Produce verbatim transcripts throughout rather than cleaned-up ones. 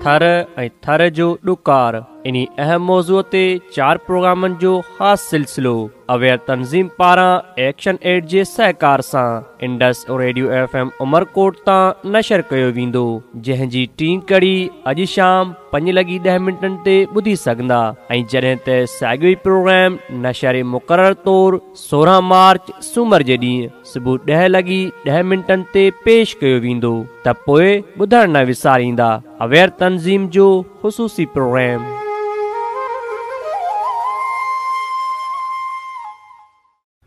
थर ऐं थर जो ॾुकार इन्ही अहम मौज़ूअ ते चार प्रोग्रामनि जो ख़ासि सिलसिलो अवेयर तंज़ीम पारां एक्शन एड जे सहकार सां Indus radio F M Umerkot तां नशर कयो वेंदो, जंहिंजी टीं कड़ी अॼु शाम पंज लॻी ॾह मिंटनि ते ॿुधी सघंदा ऐं जॾहिं त साॻियो ई प्रोग्राम नशर मुक़ररु तौरु सोरहं मार्च सूमर जे ॾींहुं सुबुह ॾह लॻी ॾह मिंटनि ते पेश कयो वेंदो। त पोइ ॿुधणु न विसारींदा अवेयर तंज़ीम जो ख़ुसूसी प्रोग्राम।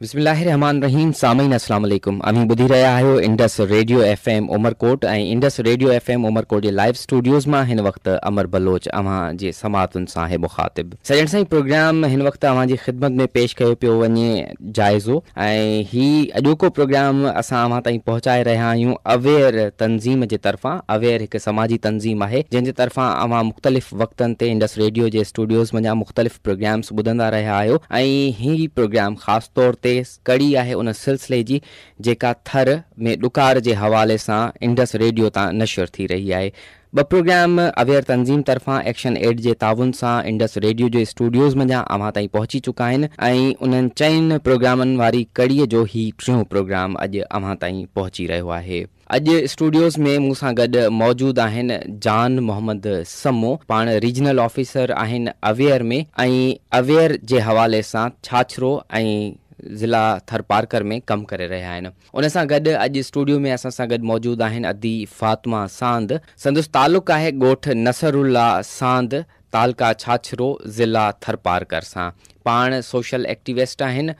बिस्मिल्लाहिर्रहमानिर्रहीम। सामीन अस्सलाम वालेकुम। अव्हीं ॿुधी रहिया आहियो Indus radio F M Umerkot ऐं Indus radio F M Umerkot जे लाइव स्टूडियोज़ मां हिन वक़्तु अमर बलोच अव्हां जे समाअतुनि सां आहे मुखातिब। सॼण साईं, प्रोग्राम हिन वक़्तु अव्हां जी ख़िदमत में पेश कयो पियो वञे जाइज़ो ऐं ही अॼोको प्रोग्राम असां अव्हां ताईं पहुचाए रहिया आहियूं अवेयर तंज़ीम जे तरफ़ां। अवेयर हिकु समाजी तंज़ीम आहे जंहिंजे तरफ़ां अव्हां मुख़्तलिफ़ वक़्तनि ते इंडस रेडियो जे स्टूडियोज़ मंझां मुख़्तलिफ़ प्रोग्राम्स ॿुधंदा रहिया आहियो ऐं ही प्रोग्राम ख़ासि तौर ते कड़ी आहे उन सिलसिले जी जेका थर में ॾुकार जे हवाले सां इंडस रेडियो तां नशर थी रही आहे। ॿ प्रोग्राम अवेयर तंज़ीम तरफ़ां एक्शन एड जे ताउन सां इंडस रेडियो जे स्टूडियोज़ मंझां अव्हां ताईं पहुची चुका आहिनि ऐं उन्हनि चइनि प्रोग्रामनि वारी कड़ीअ जो ही टियों प्रोग्राम अॼु अव्हां ताईं पहुची रहियो आहे। अॼु स्टूडियोज़ में मूं सां गॾु मौजूदु आहिनि जान मोहम्मद सम्मो, पाण रीजनल ऑफिसर आहिनि अवेयर में ऐं अवेयर जे हवाले सां छाछरो ऐं ज़िला थरपारकर में कमु करे रहिया आहिनि। उन सां गॾु अॼु स्टूडियो में असां सां गॾु मौजूदु आहिनि अदी फातिमा सांद। संदसि तालुक आहे ॻोठ नसरुल्ला सांद, तालका छाछरो, ज़िला थरपारकर सां। पाण सोशल एक्टिविस्ट आहिनि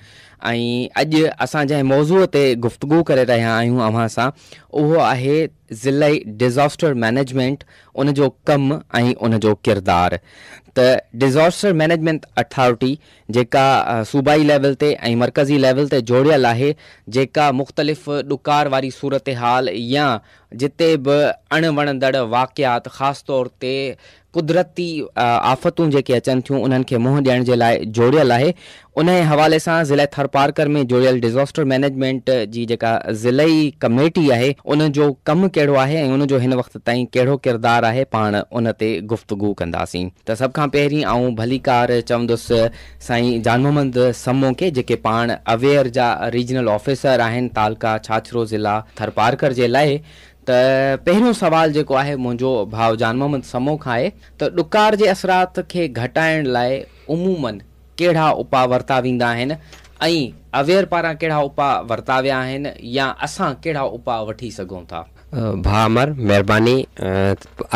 ऐं अॼु असां जंहिं मौज़ूअ ते गुफ़्तगू करे रहिया आहियूं अव्हां सां उहो आहे ज़िलाई डिज़ास्टर मैनेजमेंट, उन जो कमु ऐं उन जो किरदारु। त डिज़ास्टर मैनेजमेंट अथॉरिटी जेका सूबाई लेवल ते ऐं मरकज़ी लेवल ते जोड़ियल आहे, जेका मुख़्तलिफ़ ॾुकार वारी सूरत हाल या जिते बि अणवणंदड़ वाक़ियात ख़ासि तौर ते कुदरती आफ़तूं जेके अचनि थियूं उन्हनि खे मुंहुं ॾियण जे लाइ जोड़ियल आहे। उन हवाले सां ज़िले थरपारकर में जोड़ियल डिज़ास्टर मैनेजमेंट जी जेका ज़िलाई कमेटी आहे उन जो कमु कहिड़ो आहे ऐं उन जो हिन वक़्त ताईं कहिड़ो किरदारु आहे, पाण उन ते गुफ़्तगू कंदासीं। त सभ खां पहिरीं आउं भलीकार चवंदुसि साईं जान मोहम्मद सम्मो खे, जेके पाण अवेयर जा रीजनल ऑफिसर आहिनि तालका छाछरो ज़िला थरपारकर जे लाइ। त पहिरियों सवाल जेको आहे मुंहिंजो भाउ जान मोहम्मद सम्मो खां आहे त ॾुकार जे असरात खे घटाइण लाइ उमूमन कहिड़ा उपाउ वरिता वेंदा आहिनि ऐं अवेयर पारां कहिड़ा उपाउ वरिता विया आहिनि या असां कहिड़ा उपाउ वठी सघूं था? भाउ अमर, महिरबानी।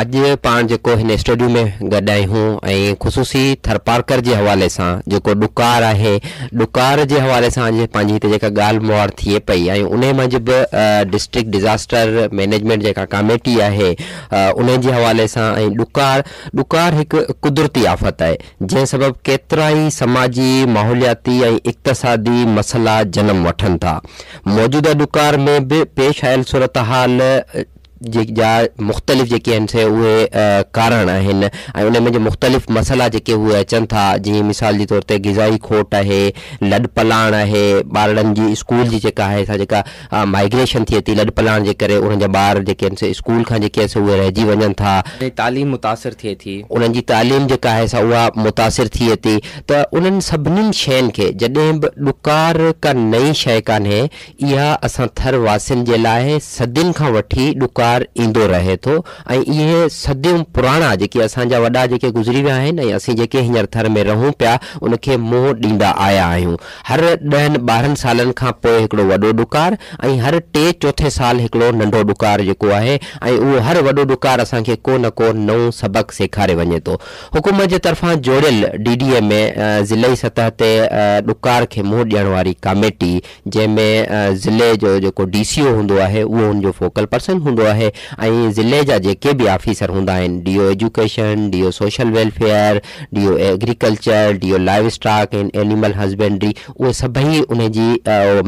अॼु पाण जेको हिन स्टूडियो में गॾु आहियूं ऐं ख़ुसूसी थरपारकर जे हवाले सां जेको ॾुकार आहे, ॾुकार जे हवाले सां अॼु पंहिंजी हिते जेका ॻाल्हि मुहाड़ थिए पई ऐं उन मंझि बि डिस्ट्रिक्ट डिज़ास्टर मैनेजमेंट जेका कमेटी आहे उन जे हवाले सां ऐं ॾुकार ॾुकार हिकु कुदरती आफ़त आहे जंहिं सबबु केतिरा ई समाजी, माहौलियाती ऐं इक़्तिसादी मसइला जनम वठनि था। मौजूदा ॾुकार में बि पेश आयल सूरत हाल जा मुख़्तलिफ़ जेके आहिनि से उहे कारण आहिनि ऐं उन में मुख़्तलिफ़ मसइला जेके उहे अचनि था, जीअं मिसाल जे तौर ते ग़िज़ाई खोट आहे, लॾपलाण आहे, ॿारनि जी स्कूल जी जेका आहे सा जेका माइग्रेशन थिए थी लॾपलाण जे करे उन्हनि जा ॿार जेके आहिनि से स्कूल खां जेके आहिनि उहे रहिजी वञनि था, तालीम मुतासिर थिए थी, उन्हनि जी तालीम जेका आहे सा उहा मुतासिर थिए थी। त उन्हनि सभिनीनि शयुनि खे जॾहिं बि ॾुकार का नई शइ कान्हे, इहा असां थर वासियुनि जे लाइ सदियुनि खां वठी ॾुकार ईंदो रहे थो ऐं इहे सदियूं पुराणा जेके असांजा वॾा जेके गुज़री विया आहिनि ऐं असीं जेके हींअर थर में रहूं पिया उनखे मुंहुं ॾींदा आया आहियूं। हर ॾहनि ॿारहनि सालनि खां पोइ हिकिड़ो वॾो ॾुकार ऐं हर टे चोथे साल हिकिड़ो नंढो ॾुकार जेको आहे ऐं उहो हर वॾो ॾुकार असांखे को न को नओं सबक़ु सेखारे वञे थो। हुकूमत जे तरफ़ां जोड़ियल डी डी ए में ज़िलाई सतह ते ॾुकार खे मुंहुं ॾियण वारी कमेटी जंहिंमें ज़िले जो जेको डी सी ओ हूंदो आहे उहो हुनजो फोकल पर्सन हूंदो आहे ऐं ज़िले जा जेके बि ऑफिसर हूंदा आहिनि, D O education, D O social welfare, D O agriculture, D O livestock and animal husbandry, उहे सभई उनजी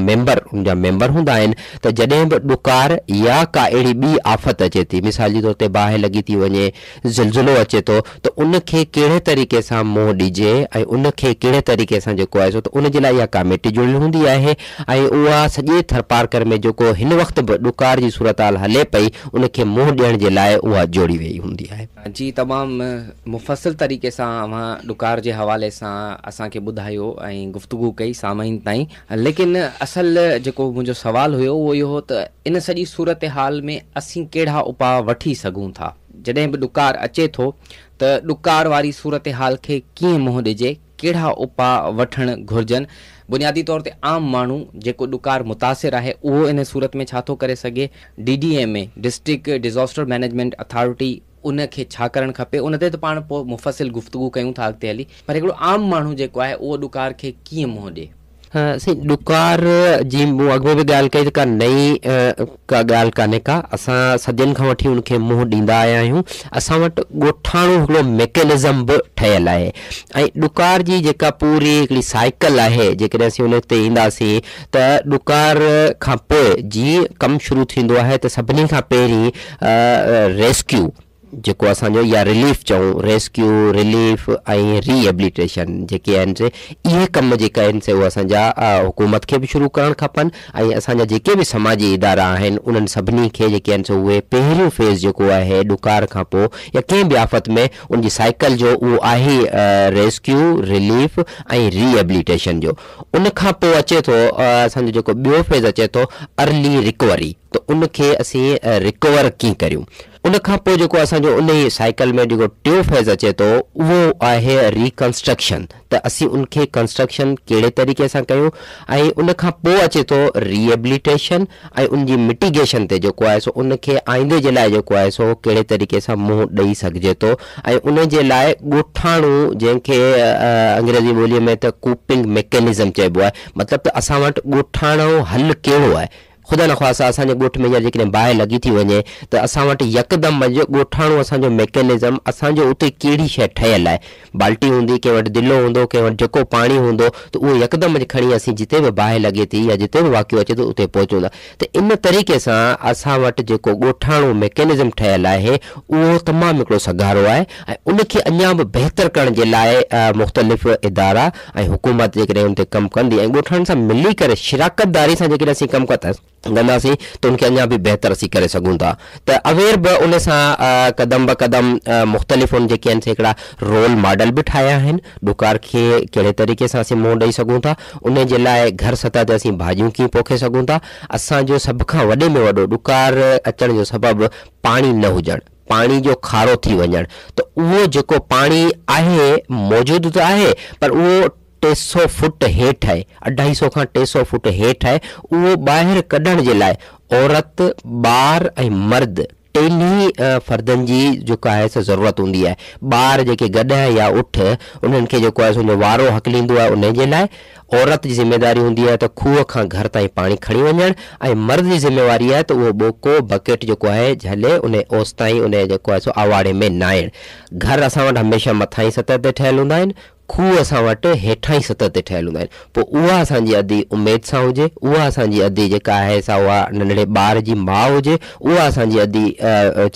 मेंबर उनजा मेंबर हूंदा आहिनि। त जॾहिं बि ॾुकार या का अहिड़ी ॿी आफ़त अचे थी, मिसाल जे तौर ते बाहि लॻी थी वञे, ज़िलज़िलो अचे थो, त उनखे कहिड़े तरीक़े सां मुंहुं ॾिजे ऐं उनखे कहिड़े तरीक़े सां जेको आहे सो त उन जे लाइ इहा कमेटी जुड़ियल हूंदी आहे ऐं उहा सॼे थरपारकर में जेको हिन वक़्तु बि ॾुकार जी सूरत हाल हले पई ان کي منهن ڏيڻ جي لاءِ اها جوڙي وئي هوندي آهي. جي تمام مفصل طريقي سان اوهان ڏڪار جي حوالي سان اسان کي ٻڌايو ۽ گفتگو ڪئي سامعين تائين، ليڪن اصل جيڪو منهنجو سوال هيو اهو اهو هو ته ان سڄي صورت حال ۾ اسين ڪهڙا اپاءُ وٺي سگهون ٿا؟ جڏهن به ڏڪار اچي ٿو ته ڏڪار واري صورت حال کي ڪيئن منهن ڏجي، ڪهڙا اپاءُ وٺڻ گهرجن؟ بنيادي طور تي عام ماڻهو جيڪو ڏڪار متاثر آهي اهو ان صورت ۾ ڇا ٿو ڪري سگهي؟ D D M A district disaster management authority ان کي ڇا ڪرڻ کپي؟ ان تي ته پاڻ پوءِ مفصل گفتگو ڪيون ٿا اڳتي هلي، پر هڪڙو عام ماڻهو جيڪو آهي اهو ڏڪار کي ڪيئن منهن ڏئي؟ سائين ڏڪار جي مون اڳ ۾ به ڳالهه ڪئي ته ڪا نئين ڪا ڳالهه ڪانهي ڪا، اسان صدين کان وٺي ان کي منهن ڏيندا آيا آهيون. اسان وٽ ڳوٺاڻو هڪڙو ميڪينزم به ٺهيل آهي ۽ ڏڪار جي جيڪا پوري هڪڙي سائيڪل آهي، جيڪڏهن اسين ان تي اينداسين ته ڏڪار کان پوءِ جيئن ڪم شروع ٿيندو آهي ته سڀني کان پهرين ريسڪيو جيڪو اسان جو يا رليف چئون، ريسڪيو، رليف ۽ ريهيبليٽيشن جيڪي آهن سي اهي ڪم جيڪا آهن سي اهي اسان جا حڪومت کي به شروع ڪرڻ کپن ۽ اسان جا جيڪي به سماجي ادارا آهن انهن سڀني کي جيڪي آهن سو اهي پهريون فيز جيڪو آهي ڏڪار کان پوءِ يا ڪنهن به آفت ۾ ان جي سائيڪل جو اهو آهي ريسڪيو، رليف ۽ ريهيبليٽيشن جو. ان کان پوءِ اچي ٿو اسان جو جيڪو ٻيو فيز اچي ٿو ارلي رڪوري، ته ان کي اسين رڪور ڪيئن ڪريون. ان کان پوءِ جيڪو اسان جو ان ئي سائيڪل ۾ جيڪو ٽيون فيز اچي ٿو اهو آهي ريڪنسٽرڪشن، ته اسين ان کي ڪنسٽرڪشن ڪهڙي طريقي سان ڪيون. ۽ ان کان پوءِ اچي ٿو ريهيبليٽيشن ۽ ان جي مٽيگيشن تي جيڪو آهي سو ان کي آئيندي جي لاءِ جيڪو آهي سو ڪهڙي طريقي سان منهن ڏيئي سگهجي ٿو. ۽ ان جي لاءِ ڳوٺاڻو جنهن کي انگريزي ٻوليءَ ۾ ته ڪوپنگ ميڪينزم چئبو آهي، مطلب ته اسان وٽ ڳوٺاڻو حل ڪهڙو آهي. خدا نه خاص اسان جي ڳوٺ ۾ جيڪڏهن باهه لڳي ٿي وڃي ته اسان وٽ يڪدم منجهه ڳوٺاڻو اسان جو ميڪينزم، اسان جو اتي ڪهڙي شيءِ ٺهيل آهي، بالٽي هوندي، ڪنهن وٽ دلو هوندو، ڪنهن وٽ جيڪو پاڻي هوندو، ته اهو يڪدم کڻي اسين جتي به باهه لڳي ٿي يا جتي به واقعو اچي ٿو اتي پهچون ٿا. ته ان طريقي سان اسان وٽ جيڪو ڳوٺاڻو ميڪينزم ٺهيل آهي اهو تمام هڪڙو سگهارو آهي ۽ ان کي اڃا به بهتر ڪرڻ جي لاءِ مختلف ادارا ۽ حڪومت جيڪڏهن ان تي ڪم ڪندي ۽ ڳوٺاڻن سان ملي ڪري شراڪت داري سان جيڪڏهن اسين ڪم ڪنداسين ڪنداسين ته ان کي اڃا به بهتر اسين ڪري سگهون ٿا. ته اويئر به ان سان قدم به قدم مختلف ان جيڪي آهن سي هڪڙا رول ماڊل به ٺاهيا آهن، ڏڪار کي ڪهڙي طريقي سان اسين منهن ڏيئي سگهون ٿا، ان جي لاءِ گهر سطح تي اسين ڀاڄيون ڪيئن پوکي سگهون ٿا. اسان جو سڀ کان وڏي ۾ وڏو ڏڪار اچڻ جو سبب پاڻي نه هجڻ، پاڻي جو کارو ٿي وڃڻ. ته اهو جيڪو پاڻي آهي موجود ته آهي پر اهو ٽي سؤ فوٽ هيٺ آهي، اڍائي سؤ کان ٽي سؤ فوٽ هيٺ آهي. اهو ٻاهر ڪڍڻ جي لاءِ عورت، ٻار ۽ مرد ٽنهي فردن جي جيڪا آهي سو ضرورت هوندي آهي. ٻار جيڪي گڏهه يا اٺ انهن کي جيڪو آهي سو وارو هڪليندو آهي، ان جي لاءِ عورت جي ذميداري هوندي آهي ته کوهه کان گهر تائين پاڻي کڻي وڃڻ ۽ مرد جي ذميواري آهي ته اهو ٻوڪو بڪيٽ جيڪو آهي جهلي ان اوس تائين ان جيڪو آهي سو آواڙي ۾ نائڻ. گهر اسان وٽ هميشه مٿان ئي سطح تي ٺهيل هوندا آهن، کوهه اسان وٽ هيٺان ئي سطح تي ٺهيل هوندا آهن. پوءِ اها اسان جي اڌي اميد سان هجي، اها اسان جي اڌي جيڪا آهي سا اها ننڍڙي ٻار جي ماءُ هجي، اها اسان جي اڌي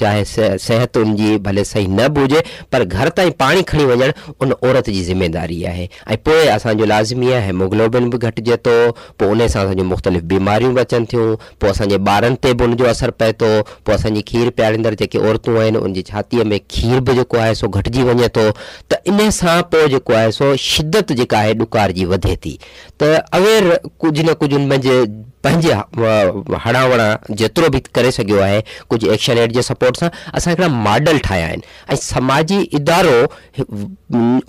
چاهي صحت ان جي ڀلي صحيح نه به هجي پر گهر تائين پاڻي کڻي وڃڻ ان عورت جي ذميداري آهي. ۽ پوءِ اسان جو لازمي آهي هيموگلوبن به گهٽجي ٿو، پوءِ ان سان اسان جون مختلف بيماريون به اچن ٿيون، پوءِ اسان جي ٻارن تي به ان جو اثر پئي ٿو، پوءِ اسان جي کير پياريندڙ جيڪي عورتون آهن ان جي ڇاتيءَ ۾ کير به جيڪو آهي سو گهٽجي وڃي ٿو. ته ان سان پوءِ جيڪو آهي سو شدت جيڪا آهي ڏڪار جي وڌي ٿي. ته اويئر ڪجهه نه ڪجهه ان منجهه پنهنجي هڙان وڙان جيترو به ڪري سگهيو آهي ڪجهه ايڪشن ايڊ جي سپورٽ سان اسان هڪڙا ماڊل ٺاهيا آهن. ۽ سماجي ادارو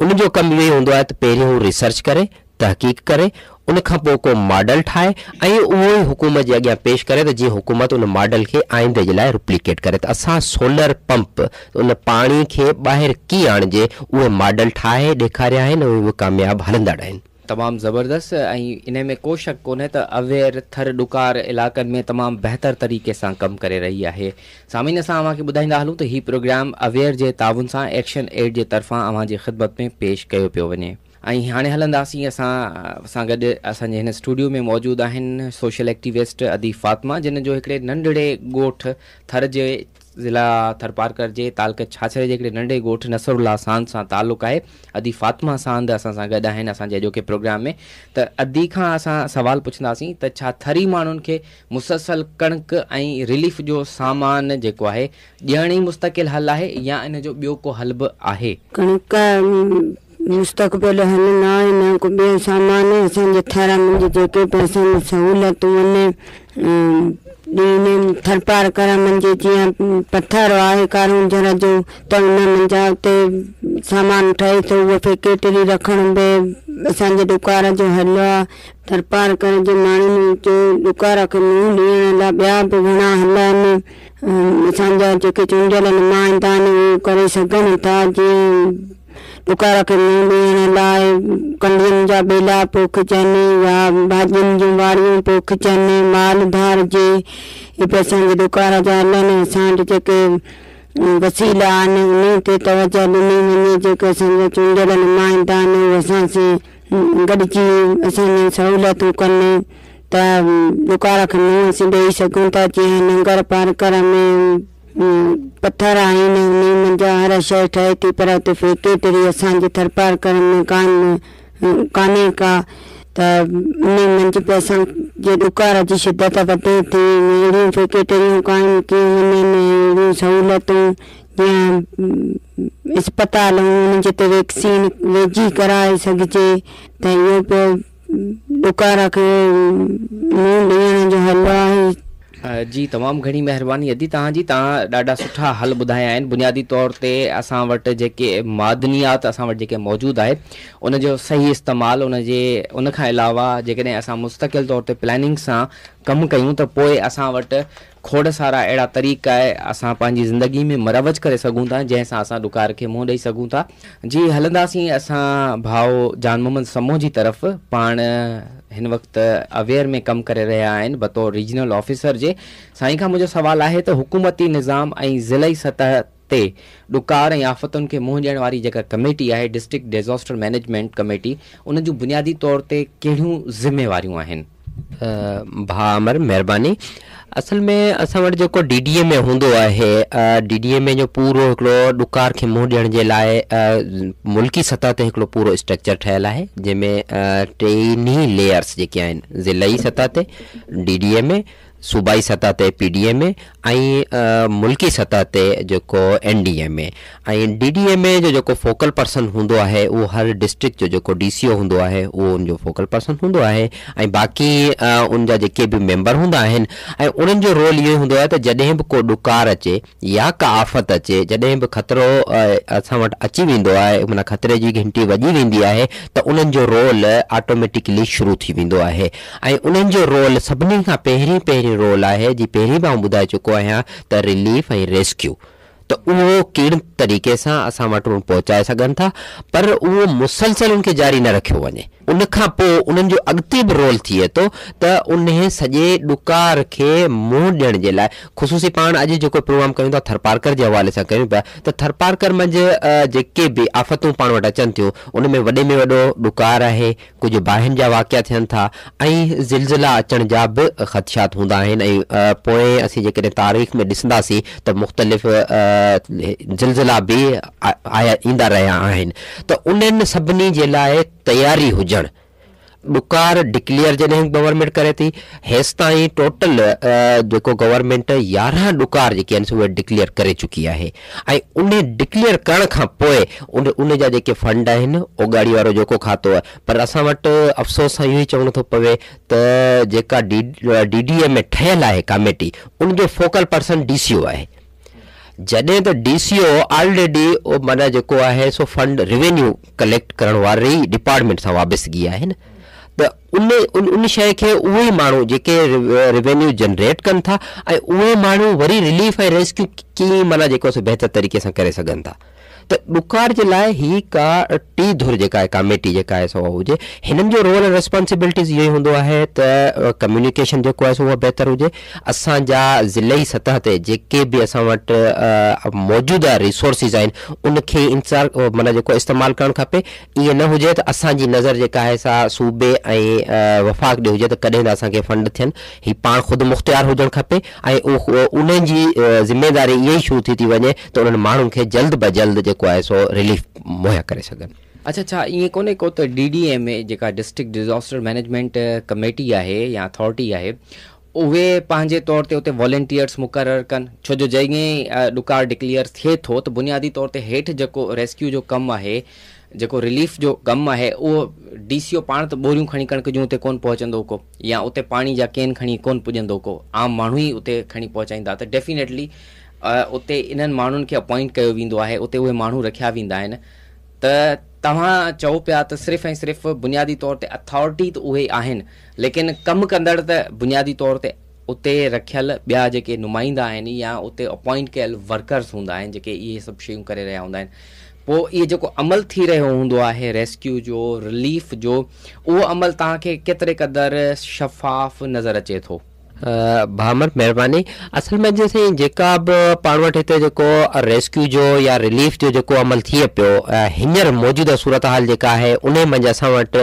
ان جو ڪم اهو ئي هوندو آهي ته پهريون هو ريسرچ ڪري، تحقيق ڪري، ان کان پوءِ ڪو ماڊل ٺاهي ۽ اهو ئي حڪومت جي اڳيان پيش ڪري ته جيئن حڪومت ان ماڊل کي آئيندي جي لاءِ رپليڪيٽ ڪري. ته اسان سولر پمپ ان پاڻي کي ٻاهر ڪيئن آڻجي اهي ماڊل ٺاهي ڏيکاريا آهن ۽ اهي ڪامياب هلندڙ آهن. تمام زبردست ۽ ان ۾ ڪو شڪ ڪونهي ته اويئر ٿر ڏڪار علائقن ۾ تمام بهتر طريقي سان ڪم ڪري رهي آهي. سامعين اسان اوهان کي ٻڌائيندا هلون ته هي پروگرام اويئر جي تعاون سان ايڪشن ايڊ جي طرفان اوهان جي خدمت ۾ پيش ڪيو پيو وڃي. ۽ هاڻي هلنداسين اسان سان گڏ اسان جي هن اسٽوڊيو ۾ موجود آهن سوشل ايڪٽيوسٽ ادي فاطمه، جن جو هڪڙي ننڍڙي ڳوٺ ٿر جي ज़िला थरपारकर जे तालके छाछरे जे हिकिड़े नंढे ॻोठ नसरुल्लाह सांद सां तालुक़ु आहे। अदी फातिमा सांद असां सां गॾु आहिनि असांजे अॼोके प्रोग्राम में। त अदी खां असां सवाल पुछंदासीं त छा थरी माण्हुनि खे मुसलसल कणिक ऐं रिलीफ जो सामान जेको आहे ॾियणु ई मुस्तकिल हल आहे या इन जो ॿियो को हल बि आहे? कणिक मुस्तक़बिल हल न आहे, न को ॿियो सामान। असांजे थर में जेके बि असांजी सहूलियतूं आहिनि ॾींहुं थरपारकर मंझि जीअं पथर आहे कारंजर जो त उन मंझां उते सामान ठहे थो, उहो फैक्ट्री रखणु बि असांजे ॾुकार जो हल आहे। थरपारकर जे माण्हुनि जो ॾुकार खे मुंहुं ॾियण लाइ ॿिया बि घणा हल आहिनि। असांजा जेके चूंडियल नुमाइंदा आहिनि उहो करे सघनि था, जीअं ॾुकार खे मुंहुं ॾियण लाइ कंडियुनि जा ॿेला पोखिजनि या भाॼियुनि जूं वाड़ियूं पोखिजनि, माल धारजे। इहे बि असांजे ॾुकार जा हल आहिनि। असां वटि जेके वसीला आहिनि उन ते तवजो ॾिनी वञे। जेके असांजा चूंडियल नुमाइंदा आहिनि उहे असां सां गॾिजी असांजी सहूलियतूं कनि त ॾुकार खे मुंहुं असीं ॾेई सघूं था। जीअं नंगर पार्कर में पथर आहिनि उन मंझां हर शइ ठहे थी, पर हुते फैक्ट्री असांजे थरपारकर में कान कान्हे का, त उन मंझि बि असांजे ॾुकार जी शिदत वधे थी। अहिड़ियूं फैक्ट्रियूं क़ाइमु कयूं वञनि, अहिड़ियूं सहूलियतूं जीअं अस्पताल उन्हनि जिते वैक्सीन वेझी कराए सघिजे, त इहो बि ॾुकार खे मुंहुं ॾियण जो हल आहे। जी तमामु घणी महिरबानी अदी तव्हांजी, तव्हां ॾाढा सुठा हल ॿुधाया आहिनि। बुनियादी तौर ते असां वटि जेके मादनियात असां वटि जेके मौजूदु आहे उनजो सही इस्तेमालु, उनजे उन खां अलावा जेकॾहिं असां मुस्तकिल तौर ते प्लानिंग सां कमु कयूं त पोइ असां वटि खोड़ सारा अहिड़ा तरीक़ा आहे असां पंहिंजी ज़िंदगी में मरवज करे सघूं था जंहिंसां असां ॾुकार खे मुंहुं ॾेई सघूं था। जी हलंदासीं असां भाउ जान मोहम्मद समो जी तरफ़। पाण हिन वक़्तु अवेयर में कमु करे रहिया आहिनि बतौर रीजनल ऑफिसर जे। साईं खां मुंहिंजो सवालु आहे त हुकूमती निज़ाम ऐं ज़िलई सतह ते ॾुकार ऐं आफ़तुनि खे मुंहुं ॾियण वारी जेका कमेटी आहे डिस्ट्रिक्ट डिज़ास्टर मैनेजमेंट कमेटी, उन जूं बुनियादी तौर ते कहिड़ियूं ज़िम्मेवारियूं आहिनि? भाउ अमर महिरबानी। असल में असां वटि जेको डी डी ए में हूंदो आहे, डी डी ए में जो पूरो हिकिड़ो ॾुकार खे मुंहुं ॾियण जे लाइ मुल्की सतह ते हिकिड़ो पूरो स्ट्रक्चर ठहियलु आहे, जंहिंमें टिनी लेयर्स जेके आहिनि, ज़िलई सतह ते डी डी ए में, सूबाई सतह ते पी डी एम ए ऐं मुल्की सतह ते जेको एन डी एम ए। ऐं डी डी एम ए जो जेको फोकल पर्सन हूंदो आहे उहो हर डिस्ट्रिक्ट जो जेको डी सी ओ हूंदो आहे उहो उनजो फोकल पर्सन हूंदो आहे ऐं बाक़ी उनजा जेके बि मेंबर हूंदा आहिनि ऐं उन्हनि जो रोल इहो हूंदो आहे त जॾहिं बि को ॾुकार अचे या का आफ़त अचे, जॾहिं बि ख़तरो असां वटि अची वेंदो आहे, माना ख़तरे जी घंटी वॼी वेंदी आहे त उन्हनि जो रोल ऑटोमेटिकली शुरू थी वेंदो आहे ऐं उन्हनि जो रोल सभिनी खां पहिरीं पहिरीं रोल आहे, जी पहिरीं बि आउं ॿुधाए चुको आहियां त रिलीफ ऐं रेस्क्यू, त उहो कहिड़े तरीक़े सां असां वटि पहुचाए सघनि था, पर उहो मुसलसल उनखे जारी न रखियो वञे। उन खां पोइ उन्हनि जो अॻिते बि रोल थिए थो त उन सॼे ॾुकार खे मुंहुं ॾियण जे लाइ ख़ुसूसी पाण अॼु जेको प्रोग्राम कयूं था थरपारकर जे हवाले सां कयूं पिया, त थरपारकर मंझि जेके बि आफ़तूं पाण वटि अचनि थियूं उन में वॾे में वॾो ॾुकार आहे, कुझु बाहियुनि जा वाक़िया थियनि था ऐं ज़िलज़िला अचण जा बि ख़दशात हूंदा आहिनि। ऐं पोइ असीं जेकॾहिं तारीख़ में ॾिसंदासीं त मुख़्तलिफ़ ज़िलज़िला बि आया ईंदा रहिया आहिनि, त उन्हनि सभिनी जे लाइ तयारी हुजणु। ॾुकार डिक्लेयर जॾहिं गवर्नमेंट करे थी, हेसि ताईं टोटल जेको गवर्नमेंट यारहं ॾुकार जेके आहिनि उहे डिक्लेयर करे चुकी आहे ऐं उन डिक्लेयर करण खां पोइ उन उन जा जेके फंड आहिनि ओगाड़ी वारो जेको खातो आहे, पर असां वटि अफ़सोस सां इहो ई चवणो थो पवे त जेका डी डी डी ए में ठहियल आहे कमेटी उनजो focal person D C ओ आहे, जॾहिं त डी सी ओ ऑलरेडी माना जेको आहे सो फंड रिवेन्यू कलेक्ट करण वारे ई डिपार्टमेंट सां वाबस्तगी आहे न, त उन उन उन शइ खे उहे ई माण्हू जेके रिवेन्यू जनरेट कनि था ऐं उहे माण्हू वरी रिलीफ ऐं रेस्क्यू कीअं माना जेको सो बहितर तरीक़े सां करे सघनि था। ته ڏڪار جي لاءِ هي ڪا ٽي ڌر جيڪا آهي ڪاميٽي جيڪا آهي سو هجي، هنن جو رول ۽ ريسپانسبلٽيز اهو ئي هوندو آهي ته ڪميونيڪيشن جيڪو آهي سو اها بهتر هجي. اسان جا ضلعي سطح تي جيڪي به اسان وٽ موجوده ريسورسز آهن ان کي انتظار معنيٰ جيڪو استعمال ڪرڻ کپي. ائين نه هجي ته اسان جي نظر جيڪا آهي سا صوبي ۽ وفاق ڏي هجي ته ڪڏهن ته اسان کي فنڊ ٿين. هي پاڻ خود مختيار هجڻ کپي ۽ انهن جي ذميداري اها ئي شروع ٿي ٿي وڃي ته انهن ماڻهن کي جلد به جلد جيڪو آهي سو رليف مهيا ڪري سگهن. اڇا، ڇا ائين ڪونهي ڪو ته ڊي ڊي ايم اي جيڪا ڊسٽرڪٽ ڊزاسٽر مئنيجمينٽ ڪميٽي آهي يا اٿارٽي آهي اهي پنهنجي طور تي اتي والنٽيئرس مقرر ڪن؟ ڇو جو جيئن ئي ڏڪار ڊڪليئر ٿئي ٿو ته بنيادي طور تي هيٺ جيڪو ريسڪيو جو ڪم آهي، جيڪو رليف جو ڪم آهي، اهو ڊي سي او پاڻ ته ٻوريون کڻي ڪڻڪ جون اتي ڪونه پهچندو ڪو، يا اتي پاڻي جا ڪين کڻي ڪونه پڄندو ڪو، عام ماڻهو ئي اتي کڻي پهچائيندا. ته ڊيفينيٽلي اتي انهن ماڻهن کي اپوائنٽ ڪيو ويندو آهي، اتي اهي ماڻهو رکيا ويندا آهن. ته توهان چئو پيا ته صرف ۽ صرف بنيادي طور تي اٿارٽي ته اهي آهن، ليڪن ڪم ڪندڙ ته بنيادي طور تي اتي رکيل ٻيا جيڪي نمائندا آهن يا اتي اپوائنٽ ڪيل ورڪرس هوندا آهن جيڪي اهي سڀ شيون ڪري رهيا هوندا آهن. پوءِ اهو جيڪو عمل ٿي رهيو هوندو آهي ريسڪيو جو، رليف جو، اهو عمل توهان کي ڪيتري قدر شفاف نظر اچي ٿو؟ ڀامر مهرباني. اصل ۾ جي سائين جيڪا به پاڻ وٽ هتي جيڪو ريسڪيو جو يا رليف جو جيڪو عمل ٿئي پيو هينئر موجوده صورت حال جيڪا آهي ان منجهه اسان وٽ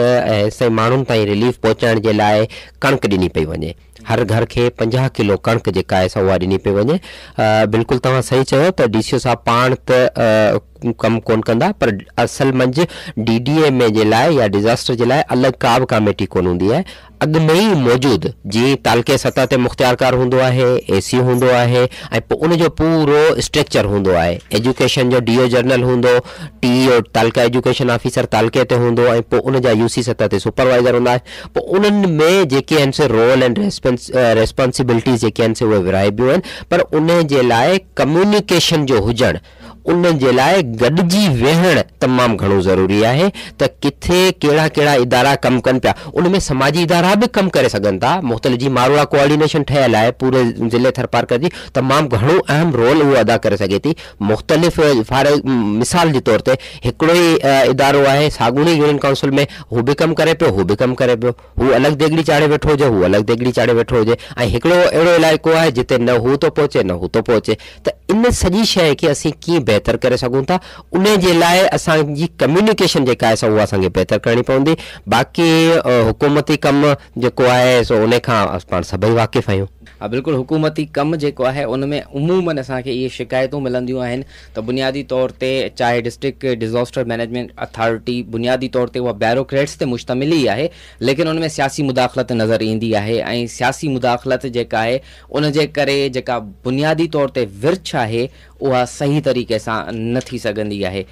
سائين ماڻهن تائين رليف پهچائڻ جي لاءِ ڪڻڪ ڏني پئي وڃي. هر گهر کي پنجاهه ڪلو ڪڻڪ جيڪا آهي سا اها ڏني پئي وڃي. بلڪل توهان صحيح چيو ته ڊي سي او صاحب پاڻ ته ڪم ڪونه ڪندا، پر اصل منجهه ڊي ڊي ايم اي جي لاءِ يا ڊزاسٽر جي لاءِ الڳ ڪا به ڪاميٽي ڪونه هوندي آهي. اڳ ۾ ئي موجود جيئن تعلقي سطح تي مختيارڪار هوندو آهي، اي سي هوندو آهي ۽ پوءِ ان جو پورو اسٽرڪچر هوندو آهي. ايجوڪيشن جو ڊي او جنرل هوندو، ٽي او تعلقه ايجوڪيشن آفيسر تعلقي تي هوندو ۽ پوءِ ان جا يو سي سطح تي سپروائيزر هوندا آهن. پوءِ انهن ۾ جيڪي آهن سي رول اينڊ ريسپانسبلٽيز جيڪي آهن سي اهي ورهائبيون آهن، پر ان جي لاءِ ڪميونيڪيشن جو هجڻ، ان جي لاءِ گڏجي ويهڻ تمام گهڻو ضروري آهي ته ڪٿي ڪهڙا ڪهڙا ادارا ڪم ڪن پيا. ان ۾ سماجي ادارا به ڪم ڪري سگهن ٿا. مختلف جي ماروئڙا ڪوآرڊينيشن ٺهيل آهي پوري ضلعي ٿرپارڪر جي، تمام گهڻو اهم رول اهو ادا ڪري سگهي ٿي. مختلف فار مثال جي طور تي هڪڙو ئي ادارو آهي ساڳوڻي يونين ڪائونسل ۾ هو به ڪم ڪري پيو، هو به ڪم ڪري پيو، هو الڳ ديڳڙي چاڙهي ويٺو هجي، هو الڳ ديڳڙي چاڙهي ويٺو هجي، ۽ هڪڙو اهڙو علائقو آهي جتي نه هو ٿو پهچي نه هو ٿو پهچي. ته ان سڄي شيءِ کي اسين ڪيئن بهتر ڪري سگهون ٿا، ان جي لاءِ اسان جي ڪميونيڪيشن جيڪا آهي سا اها اسان کي بهتر ڪرڻي پوندي. باقي حڪومتي ڪم جيڪو آهي سو ان کان پاڻ سڀئي واقف آهيون. ها بلڪل، حڪومتي ڪم جيڪو آهي ان ۾ عمومن اسان کي اهي شڪايتون ملنديون آهن ته بنيادي طور تي چاهي ڊسٽرڪٽ ڊزاسٽر مئنيجمينٽ اٿارٽي بنيادي طور تي اها بيوروڪريٽس تي مشتمل ئي آهي، ليڪن ان ۾ سياسي مداخلت نظر ايندي آهي ۽ سياسي مداخلت جيڪا آهي ان جي ڪري جيڪا بنيادي طور تي ورڇ آهي اها صحيح طريقي سان نه ٿي سگهندي آهي.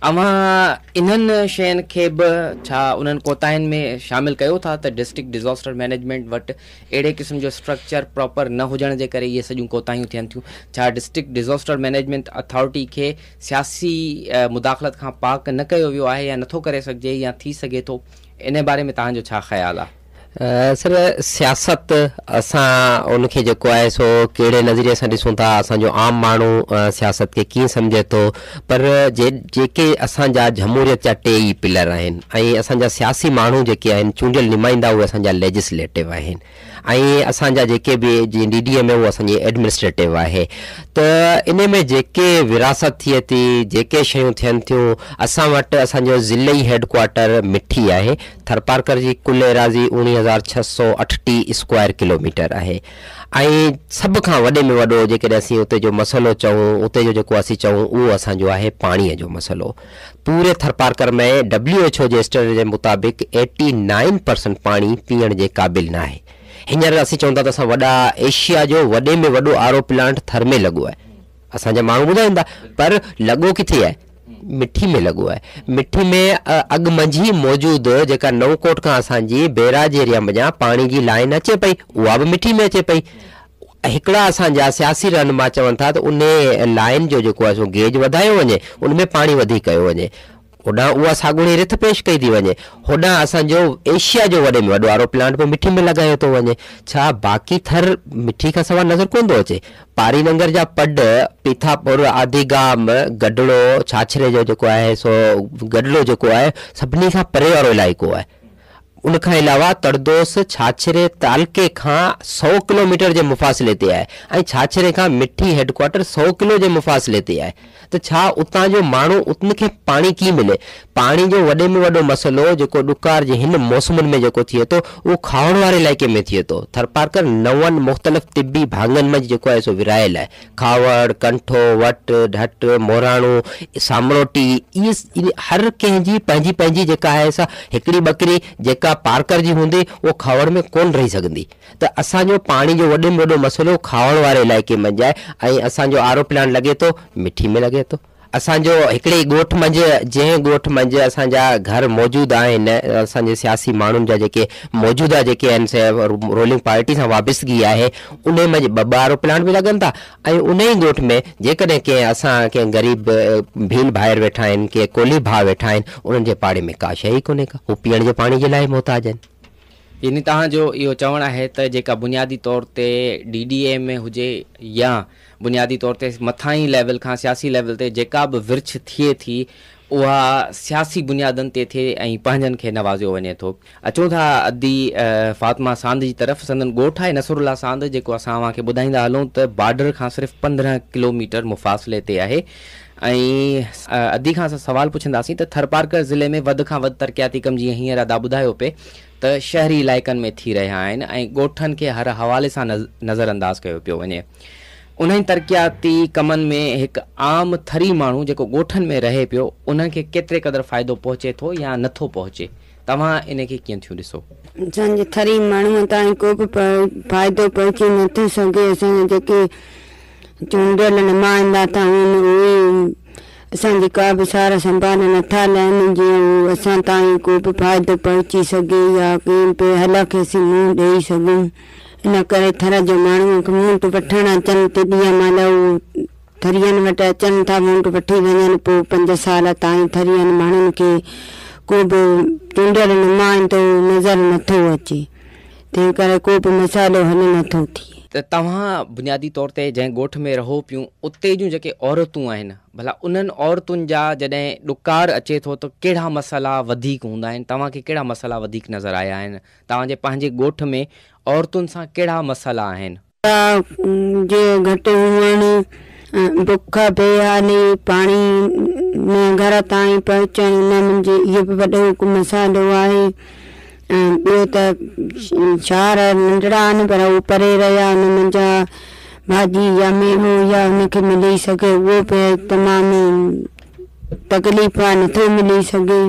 اوهان انهن شين کي به ڇا انهن ڪوتاهين ۾ شامل ڪيو ٿا ته ڊسٽرڪٽ ڊزاسٽر مئنيجمينٽ وٽ اهڙي قسم جو اسٽرڪچر پراپر نه هجڻ جي ڪري اهي سڄيون ڪوتاهيون ٿين ٿيون؟ ڇا ڊسٽرڪٽ ڊزاسٽر مئنيجمينٽ اٿارٽي کي سياسي مداخلت کان پاڪ نه ڪيو ويو آهي يا نٿو ڪري سگهجي يا ٿي سگهي ٿو؟ ان باري ۾ توهان جو ڇا خيال آهي؟ سر سياست اسان ان کي جيڪو آهي سو ڪهڙي نظريي سان ڏسون ٿا، اسان جو عام ماڻهو سياست کي ڪيئن سمجهي ٿو، پر جي جيڪي اسان جا جمهوريت جا ٽي ئي پلر آهن ۽ اسان جا سياسي ماڻهو جيڪي آهن چونڊيل نمائندا اهي اسان جا ليجسليٽو آهن ۽ اسان جا جيڪي به جيئن ڊي ڊي ايم اي اهو اسان جي ايڊمنسٽريٽو آهي. ته ان ۾ جيڪي وراثت ٿئي ٿي، جيڪي شيون ٿين ٿيون، اسان وٽ اسان جو ضلعي هيڊ ڪوارٽر مٺي آهي. ٿرپارڪر جي ڪل ايراضي اڻويهه هزار ڇهه سؤ اٺٽيهه اسڪوائر ڪلوميٽر آهي ۽ سڀ کان وڏي ۾ وڏو جيڪڏهن اسين اتي جو مسئلو چئون، اتي جو جيڪو اسين چئون اهو اسان جو آهي پاڻيءَ جو مسئلو. پوري ٿرپارڪر ۾ ڊبليو ايڇ او جي اسٽينڊرڊ جي مطابق ايٽي نائن پرسنٽ پاڻي پيئڻ جي قابل نه آهي. هينئر اسين چئون ٿا ته اسان وڏا ايشيا جو وڏي ۾ وڏو آر او پلانٽ ٿر ۾ لڳو آهي، اسان جا ماڻهو ٻڌائين ٿا، پر لڳو ڪٿي آهي؟ مٺي ۾ لڳو آهي. مٺي ۾ اڳ منجهه ئي موجود جيڪا نئون ڪوٽ کان اسان جي بيراج ايريا منجهان پاڻي جي لائن اچي پئي اها به مٺي ۾ اچي پئي. هڪڙا اسان جا سياسي رهنما چون ٿا ته ان لائن جو جيڪو آهي سو گيج وڌايو وڃي، ان ۾ پاڻي وڌيڪ ڪيو وڃي. होॾां उहा साॻुणी रिथ पेश कई थी वञे। होॾां असांजो एशिया जो वॾे में वॾो आरो प्लांट बि मिठी में लॻायो थो वञे। छा बाक़ी थर मिठी खां सवाइ नज़र कोन थो अचे? पारी नंगर जा पड, पीथापुर, आदिगाम, गडड़ो, छाछरे जो जेको आहे सो गडड़ो जेको आहे सभिनी खां परे वारो इलाइक़ो आहे। उन खां अलावा तड़दोस छाछरे तालके खां सौ किलोमीटर जे मुफ़ासिले ते आहे ऐं छाछरे खां मिठी हेडक्वार्टर सौ किलो जे मुफ़ासिले ते आहे। त छा उतां जो माण्हू उनखे पाणी कीअं मिले? पाणी जो वॾे में वॾो मसइलो जेको ॾुकार जे हिन मौसमुनि में जेको थिए थो उहो खावण वारे इलाइक़े में थिए थो। थरपारकर नवनि मुख़्तलिफ़ तिबी भाङनि में जेको आहे सो विरायल आहे। खावड़, कंठो, वट, ढट, मोराणो, सामरोटी, इहे हर कंहिंजी पंहिंजी पंहिंजी जेका आहे सा हिकिड़ी बकरी जेका पार्कर जी हूंदी उहो खावड़ में कोन रही सघंदी। त असांजो पाणी जो वॾे में वॾो मसइलो खावड़ वारे इलाइक़े मंझि आहे ऐं असांजो आरो प्लांट लॻे थो मिठी में लॻे थो। असांजो हिकिड़े ॻोठ मंझि, जंहिं ॻोठ मंझि असांजा घर मौजूदु आहिनि, असांजे सियासी माण्हुनि जा जेके मौजूदा जेके आहिनि से रोलिंग पार्टी सां वाबिस्तगी आहे, उन मंझि ॿ ॿ आरो प्लांट बि लॻनि था ऐं उन ई ॻोठ में जेकॾहिं कंहिं असां कंहिं ग़रीब भील भाइर वेठा आहिनि, कंहिं कोली भाउ वेठा आहिनि, उन्हनि जे पाड़े में का शइ ई कोन्हे का, हू पीअण जे पाणी जे लाइ मोहताज आहिनि। यानी तव्हांजो इहो चवणु आहे त जेका बुनियादी तौर ते डी डी ए में हुजे या बुनियादी तौर ते मथाई लेवल खां सियासी लेवल ते जेका बि विर्छ थिए थी उहा सियासी बुनियादनि ते थिए ऐं पंहिंजनि खे नवाज़ियो वञे थो। अचूं था अदी फातिमा सांद जी तरफ़। संदन ॻोठु आहे नसरुल्ला सांद, जेको असां तव्हांखे ॿुधाईंदा हलूं त बॉर्डर खां सिर्फ़ु पंद्रहं किलोमीटर मुफ़ासिले ते आहे। ऐं अदी खां असां सवाल पुछंदासीं त थरपारकर ज़िले में वधि खां वधि तरक़ियाती कम जीअं हींअर अदा ॿुधायो पिए त शहरी इलाइक़नि में थी रहिया आहिनि ऐं ॻोठनि खे हर हवाले सां नज़रअंदाज़ कयो पियो वञे। उन्हनि तरक़ियाती कमनि में हिकु आम थरी माण्हू जेको ॻोठनि में रहे पियो उन्हनि खे केतिरे क़दुरु फ़ाइदो पहुचे थो या नथो पहुचे, तव्हां इन खे कीअं थियूं ॾिसो? असांजे थरी माण्हूअ ताईं को बि फ़ाइदो पहुची नथो सघे। असांजा जेके चूंडियल नुमाइंदा था उहे असांजी का बि सार संभाल नथा लहनि, जीअं असां ताईं को बि फ़ाइदो पहुची सघे या कंहिं बि हल खे असीं मुंहुं ॾेई सघूं। इन करे थर जो माण्हू वोट वठणु अचनि तेॾीअ महिल उहो थरियनि वटि अचनि था, वोट वठी वञनि, पोइ पंज साल ताईं थरियनि माण्हुनि खे को बि चूंडियल नुमाइंदो नज़र नथो अचे, तंहिं करे को बि मसाइलो हल नथो थिए। त तव्हां बुनियादी तौर ते जंहिं ॻोठ में रहो पियूं उते जूं जेके औरतूं आहिनि, भला उन्हनि औरतुनि जा जॾहिं ॾुकार अचे थो त कहिड़ा मसइला वधीक हूंदा आहिनि? तव्हांखे कहिड़ा मसइला वधीक नज़र आया आहिनि? तव्हांजे पंहिंजे ॻोठ में औरतुनि सां कहिड़ा मसइला आहिनि? जे घटि हुअणु, बुख, बेहाली, पाणी में घर ताईं पहुचणु, उन मुंहिंजे इहो बि वॾो हिकु मसाइलो आहे। ऐं ॿियो त शहर नंढड़ा आहिनि पर उहे परे रहिया, हुन मुंहिंजा भाॼी या मेवो या हुनखे मिली सघे उहो बि तमामु तकलीफ़ आहे, नथो मिली सघे।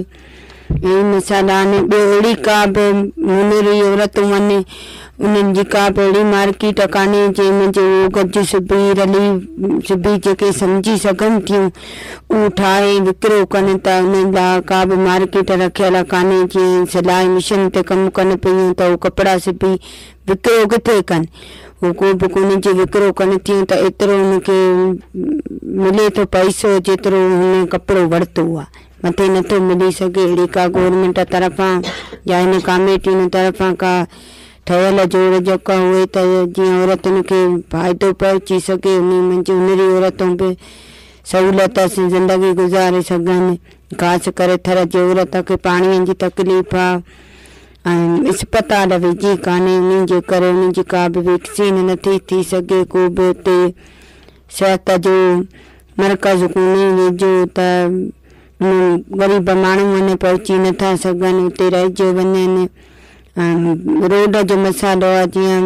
ऐं मसाला आहिनि। ॿियो अहिड़ी का बि हुनरी औरतूं आहिनि उन्हनि जी का बि अहिड़ी मार्केट कान्हे जंहिंमें जो गज सुबी रली सुबी जेके सम्झी सघनि थियूं उहो ठाहे विकिरो कनि था, उन्हनि लाइ का बि मार्केट रखियल कान्हे। जीअं सिलाई मशीन ते कमु कनि पियूं त उहो कपिड़ा सुबी विकिरो किथे कनि, उहो को बि कोन्हे। जे विकिरो कनि थियूं त एतिरो हुनखे मिले थो पैसो जेतिरो हुन कपिड़ो वरितो आहे, मथे नथो मिली सघे। अहिड़ी का गवर्नमेंट तरफ़ां या हिन कमेटियुनि तरफ़ां का ठहियल जोड़ जेका हुए त जीअं औरतुनि खे फ़ाइदो पहुची सघे, उन मंझि हुनरी औरतूं बि सहूलियत सां ज़िंदगी गुज़ारे सघनि। ख़ासि करे थर जी औरत खे पाणीअ जी तकलीफ़ आहे ऐं अस्पताल वेझी कान्हे, उन जे करे उन जी का बि वैक्सीन नथी थी सघे, को बि हुते सिहत जो मर्कज़ कोन्हे वेझो, त ग़रीब माण्हू वञे पहुची नथा सघनि, उते रहिजो वञनि। रोड जो मसाइलो आहे, जीअं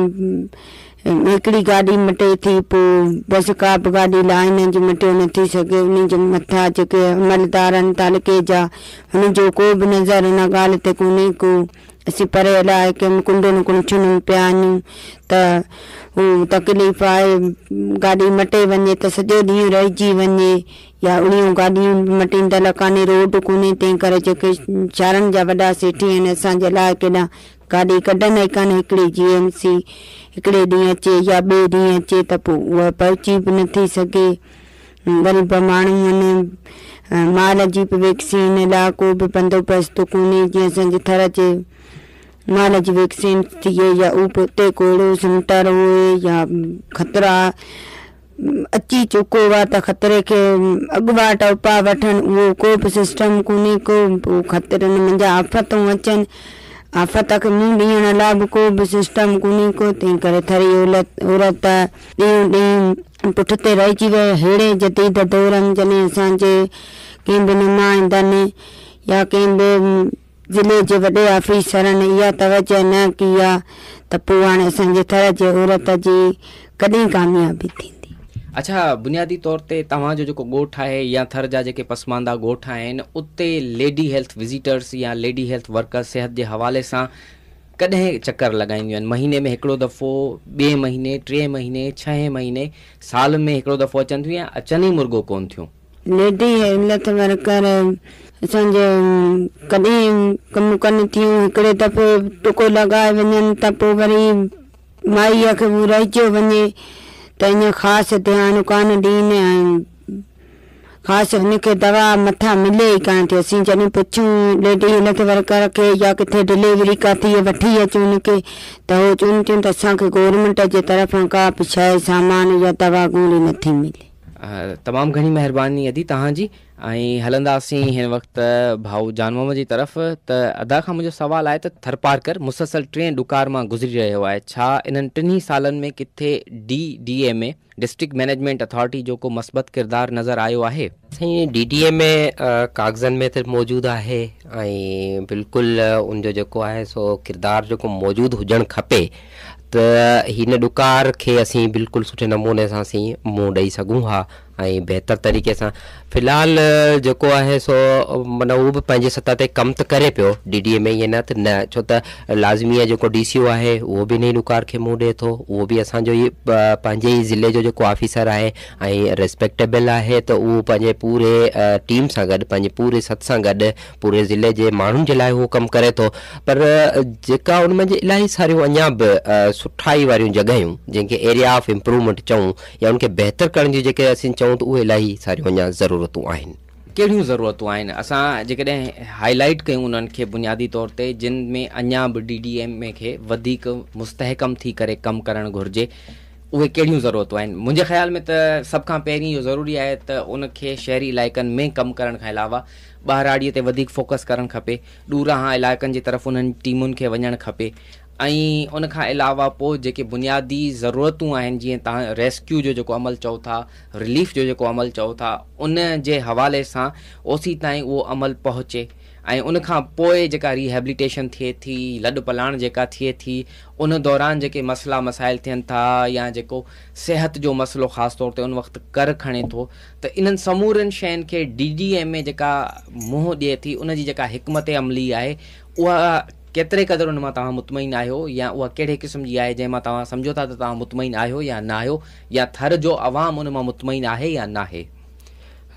हिकिड़ी गाॾी मटे थी पोइ बसि का बि गाॾी लाइन जी मटियो नथी सघे। उन जे मथां जेके अमलदार आहिनि तालुके जा, हुन जो को बि नज़र हुन ॻाल्हि ते कोन्हे को। असीं परे इलाइक़े में कुंडनि कुंछुनि में पिया आहियूं त हू तकलीफ़ आहे। गाॾी मटे वञे त सॼो ॾींहुं रहिजी वञे, या उहियूं गाॾियूं मटींदड़ कान्हे, रोड कोन्हे, तंहिं करे जेके शहरनि जा वॾा सेठी आहिनि असांजे इलाइक़े ॾांहुं गाॾी कढंदा ई कान। हिकिड़ी जी एम सी हिकिड़े ॾींहुं अचे या ॿिए ॾींहुं अचे त पोइ उहा पहुची बि नथी सघे। ग़रीब माण्हू आहिनि, माल जी बि वैक्सीन लाइ को बि बंदोबस्तु कोन्हे, जीअं असांजे थर जे माल जी वैक्सीन थिए या उहो बि उते को अहिड़ो सेंटर हुए या ख़तरा अची चुको आहे त ख़तरे खे अॻवाट उपाउ वठनि, उहो को बि सिस्टम कोन्हे को। पोइ ख़तरनि मंझां आफ़तूं अचनि, आफ़त खे मुंहुं ॾियण लाइ बि को बि सिस्टम कोन्हे को। तंहिं करे थरी औरत ॾींहुं ॾींहुं पुठिते रहिजी वई। अहिड़े जदीद दौर में जॾहिं असांजे कंहिं बि नुमाइंदनि या कंहिं बि ज़िले जे वॾे ऑफिसरनि इहा तवजह न कई आहे त पोइ हाणे असांजे थर जे औरत जी कॾहिं कामयाबी थींदी। अच्छा, बुनियादी तौर ते तव्हांजो जेको ॻोठु आहे या थर जा जेके पसमानदा ॻोठ आहिनि उते लेडी हेल्थ विज़िटर्स या लेडी हेल्थ वर्कर्स सिहत जे हवाले सां कॾहिं चक्कर लॻाईंदियूं आहिनि? महीने में हिकिड़ो दफ़ो, ॿिए महीने, टे महीने, छहें महीने, साल में हिकिड़ो दफ़ो अचनि थियूं या अचनि ई मुर्गो कोन थियूं? लेडी हेल्थ वर्कर असांजे कॾहिं कमु कनि थियूं, हिकिड़े दफ़े टुको लॻाए वञनि त पोइ वरी माईअ खे उहो रहिजो वञे त इएं ख़ासि ध्यानु कान ॾीनि ऐं ख़ासि हुनखे दवा मथां मिले ई कान थी। असीं जॾहिं पुछूं लेडी हेल्थ वर्कर खे या किथे डिलीवरी का थी वठी अचूं हुनखे त हू चवनि थियूं त असांखे गवर्नमेंट जे तरफ़ां का बि शइ सामान या दवा गोली नथी मिले। तमामु घणी महिरबानी अदी तव्हांजी। ऐं हलंदासीं हिन वक़्तु भाऊ जान मोहम्मद जी तरफ़। त अदा खां मुंहिंजो सवालु आहे त थरपारकर मुसलसल टे ॾुकार मां गुज़री रहियो आहे, छा इन्हनि टिन्ही सालनि में किथे D D M A district management authority जो को मस्बत किरदारु नज़र आयो आहे? साईं डी डी एम ए काग़ज़नि में त मौजूदु आहे ऐं बिल्कुलु उनजो जेको आहे सो किरदारु जेको मौजूदु हुजणु खपे त हिन ॾुकार खे असीं बिल्कुलु सुठे नमूने सां असीं मुंहुं ॾेई सघूं हा ऐं बहितर तरीक़े सां। फ़िलहालु जेको आहे सो माना उहो बि पंहिंजी सतह ते कमु त करे पियो डी डी ए में, ईअं न त न, छो त लाज़मी आहे जेको डी सी ओ आहे उहो बि इन ई ॾुकार खे मुंहुं ॾिए थो, उहो बि असांजो ई पंहिंजे ई ज़िले जो जेको ऑफिसर आहे ऐं रिस्पेक्टेबल आहे त उहो पंहिंजे पूरे टीम सां गॾु पंहिंजे पूरे सत सां गॾु पूरे ज़िले जे माण्हुनि जे लाइ उहो कमु करे थो। पर जेका उन में इलाही सारियूं अञा बि सुठाई वारियूं जॻहियूं जंहिंखे एरिया ऑफ इम्प्रूवमेंट चऊं या उनखे बहितर करण जी जेके असीं चऊं त उहे इलाही सारियूं अञा ज़रूरतूं आहिनि। कहिड़ियूं ज़रूरतूं आहिनि? असां जेकॾहिं हाईलाइट कयूं उन्हनि खे बुनियादी तौर ते जिन में अञा बि डी डी एम ए खे वधीक मुस्तहकम थी करे कमु करणु घुरिजे, उहे कहिड़ियूं ज़रूरतूं आहिनि? मुंहिंजे ख़्याल में त सभ खां पहिरीं इहो ज़रूरी आहे त उनखे शहरी इलाइक़नि में कमु करण खां अलावा ॿाहिराड़ीअ ते वधीक फोकस करणु खपे, ॾूराहां इलाइक़नि जी तरफ़ उन्हनि टीमुनि खे वञणु खपे ऐं उन खां अलावा पोइ जेके बुनियादी ज़रूरतूं आहिनि जीअं तव्हां रेस्क्यू जो जेको अमल चओ था, रिलीफ जो जेको अमल चओ था, उन जे हवाले सां ओसी ताईं उहो अमल पहुचे ऐं उन खां पोइ जेका रिहेबिलिटेशन थिए थी, लॾ पलाण जेका थिए थी, उन दौरान जेके मसइला मसाइल थियनि था या जेको सिहत जो मसइलो ख़ासि तौर ते उन वक़्तु कर खणे थो, त इन्हनि समूरनि शयुनि खे डी डी एम ए जेका मुंहुं ॾिए थी उन जी जेका हिकमत अमली आहे उहा केतिरे क़दुरु उन मां तव्हां मुतमइन आहियो या उहा कहिड़े क़िस्म जी आहे जंहिं मां तव्हां सम्झो था त तव्हां मुतमइन आहियो या न आहियो, या थर जो अवाम उन मां मुतमइन आहे या न आहे?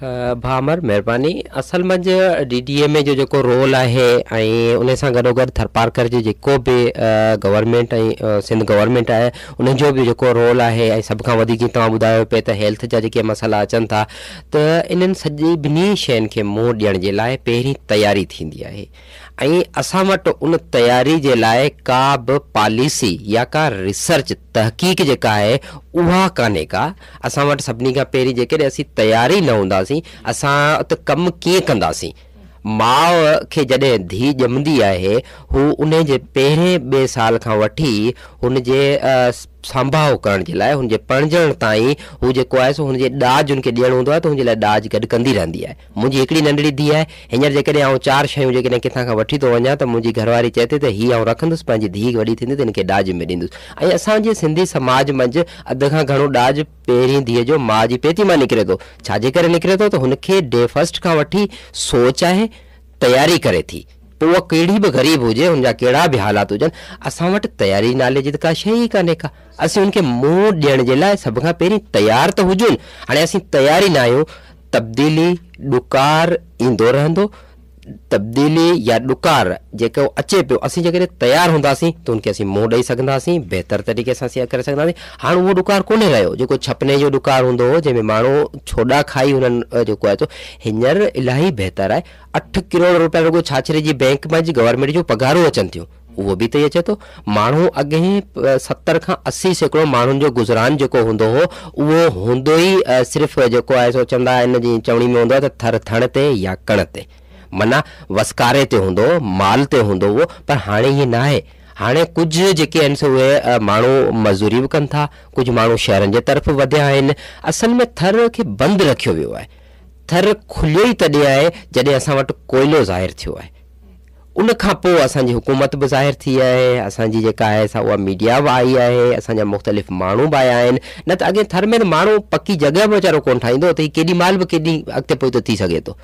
भाउ अमर महिरबानी। असल मंझि डी डी एम ए जो जेको रोल आहे ऐं उन सां गॾोगॾु थरपारकर जो जेको बि गवर्नमेंट ऐं सिंध गवर्नमेंट आहे उन जो बि जेको रोल आहे ऐं सभ खां वधीक तव्हां ॿुधायो पिए त हेल्थ जा जेके मसइला अचनि था त इन्हनि सॼी ॿिन्ही शयुनि खे मुंहुं ॾियण जे लाइ पहिरीं तयारी थींदी आहे ऐं असां वटि उन तयारी जे लाइ का बि पॉलिसी या का रिसर्च तहक़ीक़ जेका आहे उहा कान्हे का। असां वटि सभिनी खां पहिरीं जेकॾहिं असीं तयारी न हूंदासीं असां त कमु कीअं कंदासीं? माउ खे जॾहिं धीउ ॼमंदी आहे हू उन जे पहिरें ॿिए साल खां वठी हुनजे संभाव करण जे लाइ हुनजे परणजण ताईं हू जेको आहे सो हुनजे ॾाज हुनखे ॾियणो हूंदो आहे त हुनजे लाइ ॾाज गॾु कंदी रहंदी आहे। मुंहिंजी हिकिड़ी नंढड़ी धीउ आहे, हींअर जेकॾहिं आउं चारि शयूं जेकॾहिं किथां खां वठी थो वञा त मुंहिंजी घरवारी चए थी त हीअ आउं रखंदुसि, पंहिंजी धीउ वॾी थींदी त हिनखे ॾाज में ॾींदुसि। ऐं असांजे सिंधी समाज मंझि अध खां घणो ॾाज पहिरीं धीउ जो माउ जी पेती मां निकिरे थो। छाजे करे निकिरे थो त हुनखे डे फर्स्ट खां वठी सोच आहे, तयारी करे थी, पोइ उहा कहिड़ी बि ग़रीब हुजे, हुनजा कहिड़ा बि हालात हुजनि, असां वटि तयारी नाले जी त का शइ ई कान्हे का। असीं हुनखे मुंहुं ॾियण जे लाइ सभ खां पहिरीं तयारु त हुजूं। हाणे असीं तयारी न आहियूं, तब्दीली ॾुकार ईंदो रहंदो, तब्दीली या ॾुकार जेको अचे पियो, असीं जेकॾहिं तयारु हूंदासीं त उनखे असीं मुंहुं ॾेई सघंदासीं, बहितर तरीक़े सां असीं करे सघंदासीं। हाणे उहो ॾुकार कोन्हे रहियो जेको छपने जो ॾुकार हूंदो हो, जंहिंमें माण्हू छोॾा खाई हुननि जेको आहे हींअर इलाही बहितर आहे। अठ करोड़ रुपया रुगो छाछरे जी बैंक मां जी गवर्नमेंट जूं पघारूं अचनि थियूं, उहो बि त अचे थो। माण्हू अॻे सतरि खां असी सैकड़ो माण्हुनि जो गुज़रान जेको हूंदो हो उहो हूंदो ई सिर्फ़ु जेको आहे सो चवंदा आहिनि जीअं चवणी में हूंदो आहे त थर थण ते या कण ते, माना वसकारे ते हूंदो हो, माल ते हूंदो उहो, पर हाणे ईअं न आहे। हाणे कुझु जेके आहिनि सो उहे माण्हू मज़दूरी बि कनि था, कुझु माण्हू शहरनि जे तरफ़ वधिया आहिनि। असल में थर खे बंदि रखियो वियो आहे। थर खुलियो ई तॾहिं आहे जॾहिं असां वटि कोइलो ज़ाहिर थियो आहे, उन खां पोइ असांजी हुकूमत बि ज़ाहिर थी आहे, असांजी जेका आहे सा उहा मीडिया बि आई आहे, असांजा मुख़्तलिफ़ माण्हू बि आया आहिनि। न त अॻे थर में त माण्हू पकी जॻह बि वीचारो कोन ठाहींदो, त हीउ केॾी महिल बि केॾी अॻिते पोइ थी सघे थो।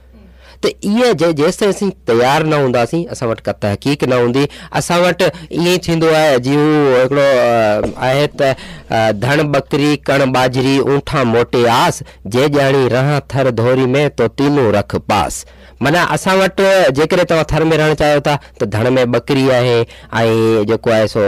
त इहा जे जेसि ताईं असीं तयारु न हूंदासीं, असां वटि का तहक़ीक़ न हूंदी, असां वटि ईअं ई थींदो आहे जीअं हू हिकिड़ो आहे त धण बकरी कण बाजरी ऊंठा मोटे आस, जे ॼाणी रहां थर धोरी में तो तीनूं रख पास। माना असां वटि जेकॾहिं तव्हां थर में रहणु चाहियो था त धण में बकरी आहे ऐं जेको आहे सो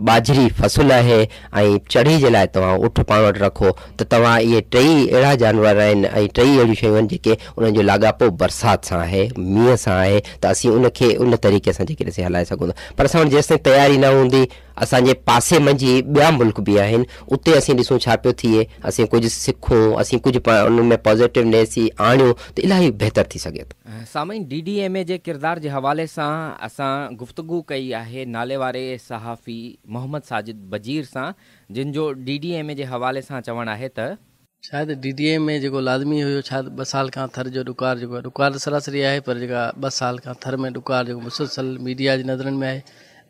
बाजरी फ़सल आहे ऐं चढ़ी जे लाइ तव्हां उठ पाण वटि रखो, त तव्हां इहे टेई अहिड़ा जानवर आहिनि ऐं टेई अहिड़ियूं शयूं आहिनि जेके उन्हनि जो लाॻापो बरसाति सां आहे, मींहं सां आहे, त असीं उनखे उन तरीक़े सां जेकॾहिं असीं हलाए सघूं था। पर असां वटि जेसि ताईं तयारी न हूंदी, असांजे पासे मंझि ॿिया मुल्क बि आहिनि, उते असीं ॾिसूं छा पियो थिए, असीं कुझु सिखूं, असीं कुझु उन में पॉज़िटिवनेस आणियूं त इलाही बहितर थी सघे थो। सामीन, डी डी एम ए जे किरदार जे हवाले सां असां गुफ्तगू कई आहे नाले वारे सहाफ़ी मोहम्मद साजिद बजीर सां, जिन जो डी डी एम ए जे हवाले सां चवणु आहे त शायदि डी डी एम ए जेको लाज़मी हुयो, शायदि ॿ साल खां थर जो ॾुकार जेको आहे, ॾुकार त सरासरी आहे पर जेका ॿ साल खां थर में ॾुकार जेको मुसलसल मीडिया जी नज़रनि में आहे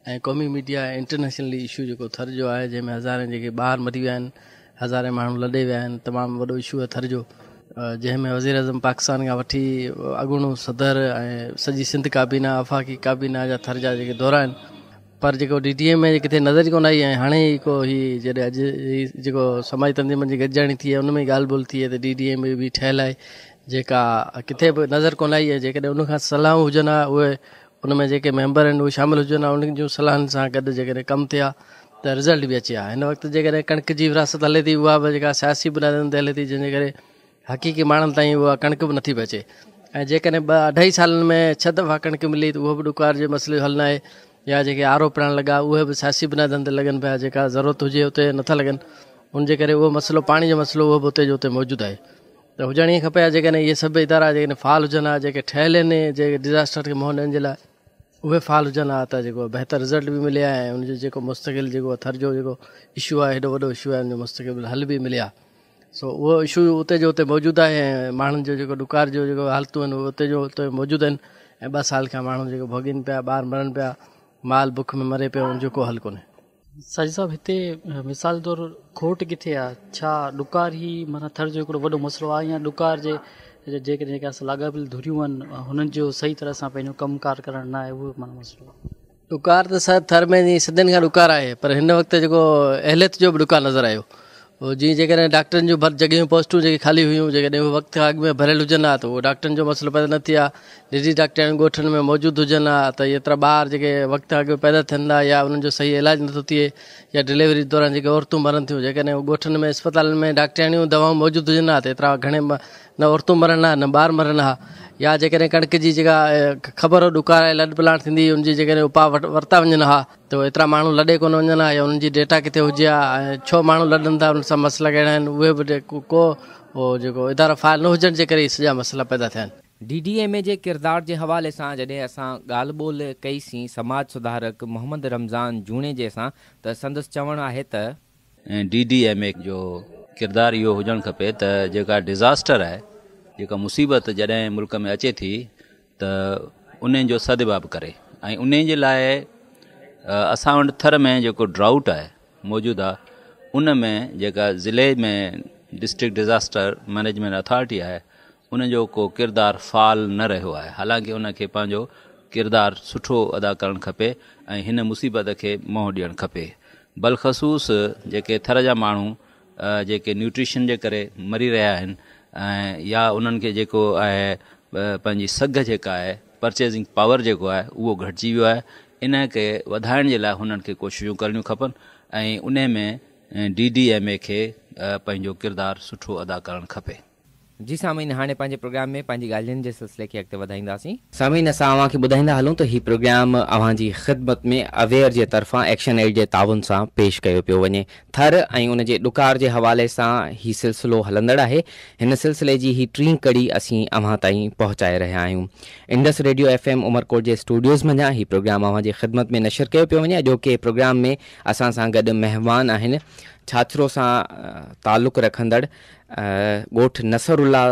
ऐं क़ौमी मीडिया इंटरनेशनली इशू जेको थर जो आहे, जंहिंमें हज़ारे जेके ॿार मरी विया आहिनि, हज़ारे माण्हू लॾे विया आहिनि, तमामु वॾो इशू आहे थर जो, जंहिंमें वज़ीर आज़म पाकिस्तान खां वठी अॻूणो सदर ऐं सॼी सिंध काबीना, आफ़ाक़ी काबीना जा थर जा जेके दौरा आहिनि, पर जेको डी डी एम ए किथे नज़र ई कोन आई। ऐं हाणे ई को हीउ जॾहिं अॼु जेको समाजी तंज़ीमनि जी गॾिजाणी थी आहे उन में ॻाल्हि ॿोल थी आहे त डी डी एम ए बि ठहियलु आहे, जेका किथे बि नज़र कोन आई। ऐं जेकॾहिं उन खां सलाहूं हुजनि हा, उहे उन में जेके मेंबर आहिनि उहे शामिल हुजनि हा, उन्हनि जूं सलाहुनि सां गॾु जेकॾहिं कमु थिया त रिज़ल्ट बि अचे हा। हिन वक़्तु जेकॾहिं कणिक जी विरासत हले थी, उहा बि जेका सियासी बुनियादनि ते हले थी, जंहिंजे करे हक़ीक़ी माण्हुनि ताईं उहा कणिक बि नथी पहुचे। ऐं जेकॾहिं ॿ अढाई सालनि में छह दफ़ा कणिक मिली त उहो बि ॾुकार जे मसइले जो हल न आहे, या जेके आरो प्लांट लॻा उहे बि सियासी बुनियादनि ते लॻनि पिया, जेका ज़रूरत हुजे उते नथा लॻनि, उनजे करे उहो मसइलो पाणी जो मसइलो उहो बि उते जो उते मौजूदु आहे। त हुजणु ईअं खपे जेकॾहिं इहे सभु इदारा जेकॾहिं फ़ाल हुजनि हा, जेके ठहियल आहिनि, जेके डिज़ास्टर खे मुंहुं ॾियण जे लाइ उहे फ़ाल हुजनि हा त जेको बहितर रिज़ल्ट बि मिले हा ऐं उनजो जेको मुस्तक़िल जेको थर जो जेको इशू आहे, हेॾो वॾो इशू आहे, उनजो मुस्तक़िल हल बि मिले हा। सो उहो इशू उते जो उते मौजूदु आहे ऐं माण्हुनि जो जेको ॾुकार जो जेको हालतूं आहिनि उहे उते जो उते मौजूदु आहिनि ऐं ॿ साल खां माण्हू जेको भोॻीनि पिया, ॿार मरनि पिया, माल बुख में मरे पियो, उनजो को हल कोन्हे। साजिद साहिबु, हिते मिसाल तौरु खोट किथे आहे? छा ॾुकार ई माना थर जो हिकिड़ो वॾो मसइलो आहे या ॾुकार जे जेके जेके असां लाॻापियल धुरियूं आहिनि हुननि जो सही तरह सां पंहिंजो कमु कार करणु न आहे, उहो माना मसइलो आहे? ॾुकार त सर थर में जीअं सदियुनि खां ॾुकार आहे, पर हिन वक़्तु जेको अहलियत जो बि ॾुकार नज़र आयो। जीअं जेकॾहिं डॉक्टरनि जूं जॻहियूं पोस्टूं जेके ख़ाली हुयूं, जेकॾहिं उहे वक़्त खां अॻु में भरियल हुजनि हा त उहो डॉक्टरनि जो मसइलो पैदा न थिए हा। निजी डॉक्टराणियूं ॻोठनि में मौजूदु हुजनि हा त एतिरा ॿार जेके वक़्त खां अॻु पैदा थियनि था या उन्हनि जो सही इलाज नथो थिए या डिलीवरी दौरान जेके औरतूं मरनि थियूं, जेकॾहिं ॻोठनि में अस्पतालनि में डॉक्टराणियूं दवाऊं मौजूदु हुजनि हा त एतिरा घणे न औरतूं मरनि हा न ॿार मरनि हा। या जेकॾहिं कणिक जी जेका ख़बर ॾुकार आहे, लॾ पलाण थींदी, उनजी जेकॾहिं उपाउ वरिता वञनि हा त एतिरा माण्हू लॾे कोन वञनि हा या उन्हनि जी डेटा किथे हुजे हा ऐं छो माण्हू लॾनि था, उन सां मसइला कहिड़ा आहिनि, उहे बि को जेको इदारो फ़ाइल न हुजण जे करे ई सॼा मसइला पैदा थिया आहिनि। डी डी एम ए जे किरदार जे हवाले सां जॾहिं असां ॻाल्हि ॿोल कईसीं समाज सुधारक मोहम्मद रमज़ान जूणेजे सां त संदसि चवणु आहे त डी डी एम ए जो किरदार इहो हुजणु खपे त जेका डिज़ास्टर आहे, जेका मुसीबत जॾहिं मुल्क में अचे थी त उन जो सदबाब करे ऐं उन जे लाइ असां वटि थर में जेको ड्राउट आहे मौजूदु आहे, उन में जेका ज़िले में डिस्ट्रिक्ट डिज़ास्टर मैनेजमेंट अथॉरिटी आहे उन जो को किरदार फ़ाल न रहियो आहे। हालांकि उनखे पंहिंजो किरदार सुठो अदा करणु खपे ऐं हिन मुसीबत खे मुंहुं ॾियणु खपे। बलख़सूस जेके थर जा माण्हू जेके न्यूट्रिशन जे करे मरी रहिया आहिनि ऐं या उन्हनि खे जेको आहे पंहिंजी सघ जेका आहे परचेजिंग पावर जेको आहे उहो घटिजी वियो आहे। इन खे वधाइण जे लाइ हुननि खे कोशिशूं करणियूं खपनि ऐं उन में डी डी एम ए खे पंहिंजो किरदारु सुठो अदा करणु खपे। जी सामीन, हाणे पंहिंजे प्रोग्राम में पंहिंजी ॻाल्हियुनि जे सिलसिले खे अॻिते वधाईंदासीं। सामीन, असां अव्हां खे ॿुधाईंदा हलूं त हीउ प्रोग्राम अव्हां जी ख़िदमत में अवेयर जे तरफ़ां एक्शन एड जे ताउन सां पेश कयो पियो वञे। थर ऐं उन जे ॾुकार जे हवाले सां हीउ सिलसिलो हलंदड़ आहे। हिन सिलसिले जी हीअ टीं कड़ी असीं अव्हां ताईं पहुचाए रहिया आहियूं। Indus radio F M Umerkot जे स्टूडियोज़ मंझां हीउ प्रोग्राम अव्हां जी ख़िदमत में नशर कयो पियो वञे। अॼोके प्रोग्राम में असां सां गॾु महिमान आहिनि छाछरो सां तालुक़ रखंदड़ ॻोठ नसरुल्ला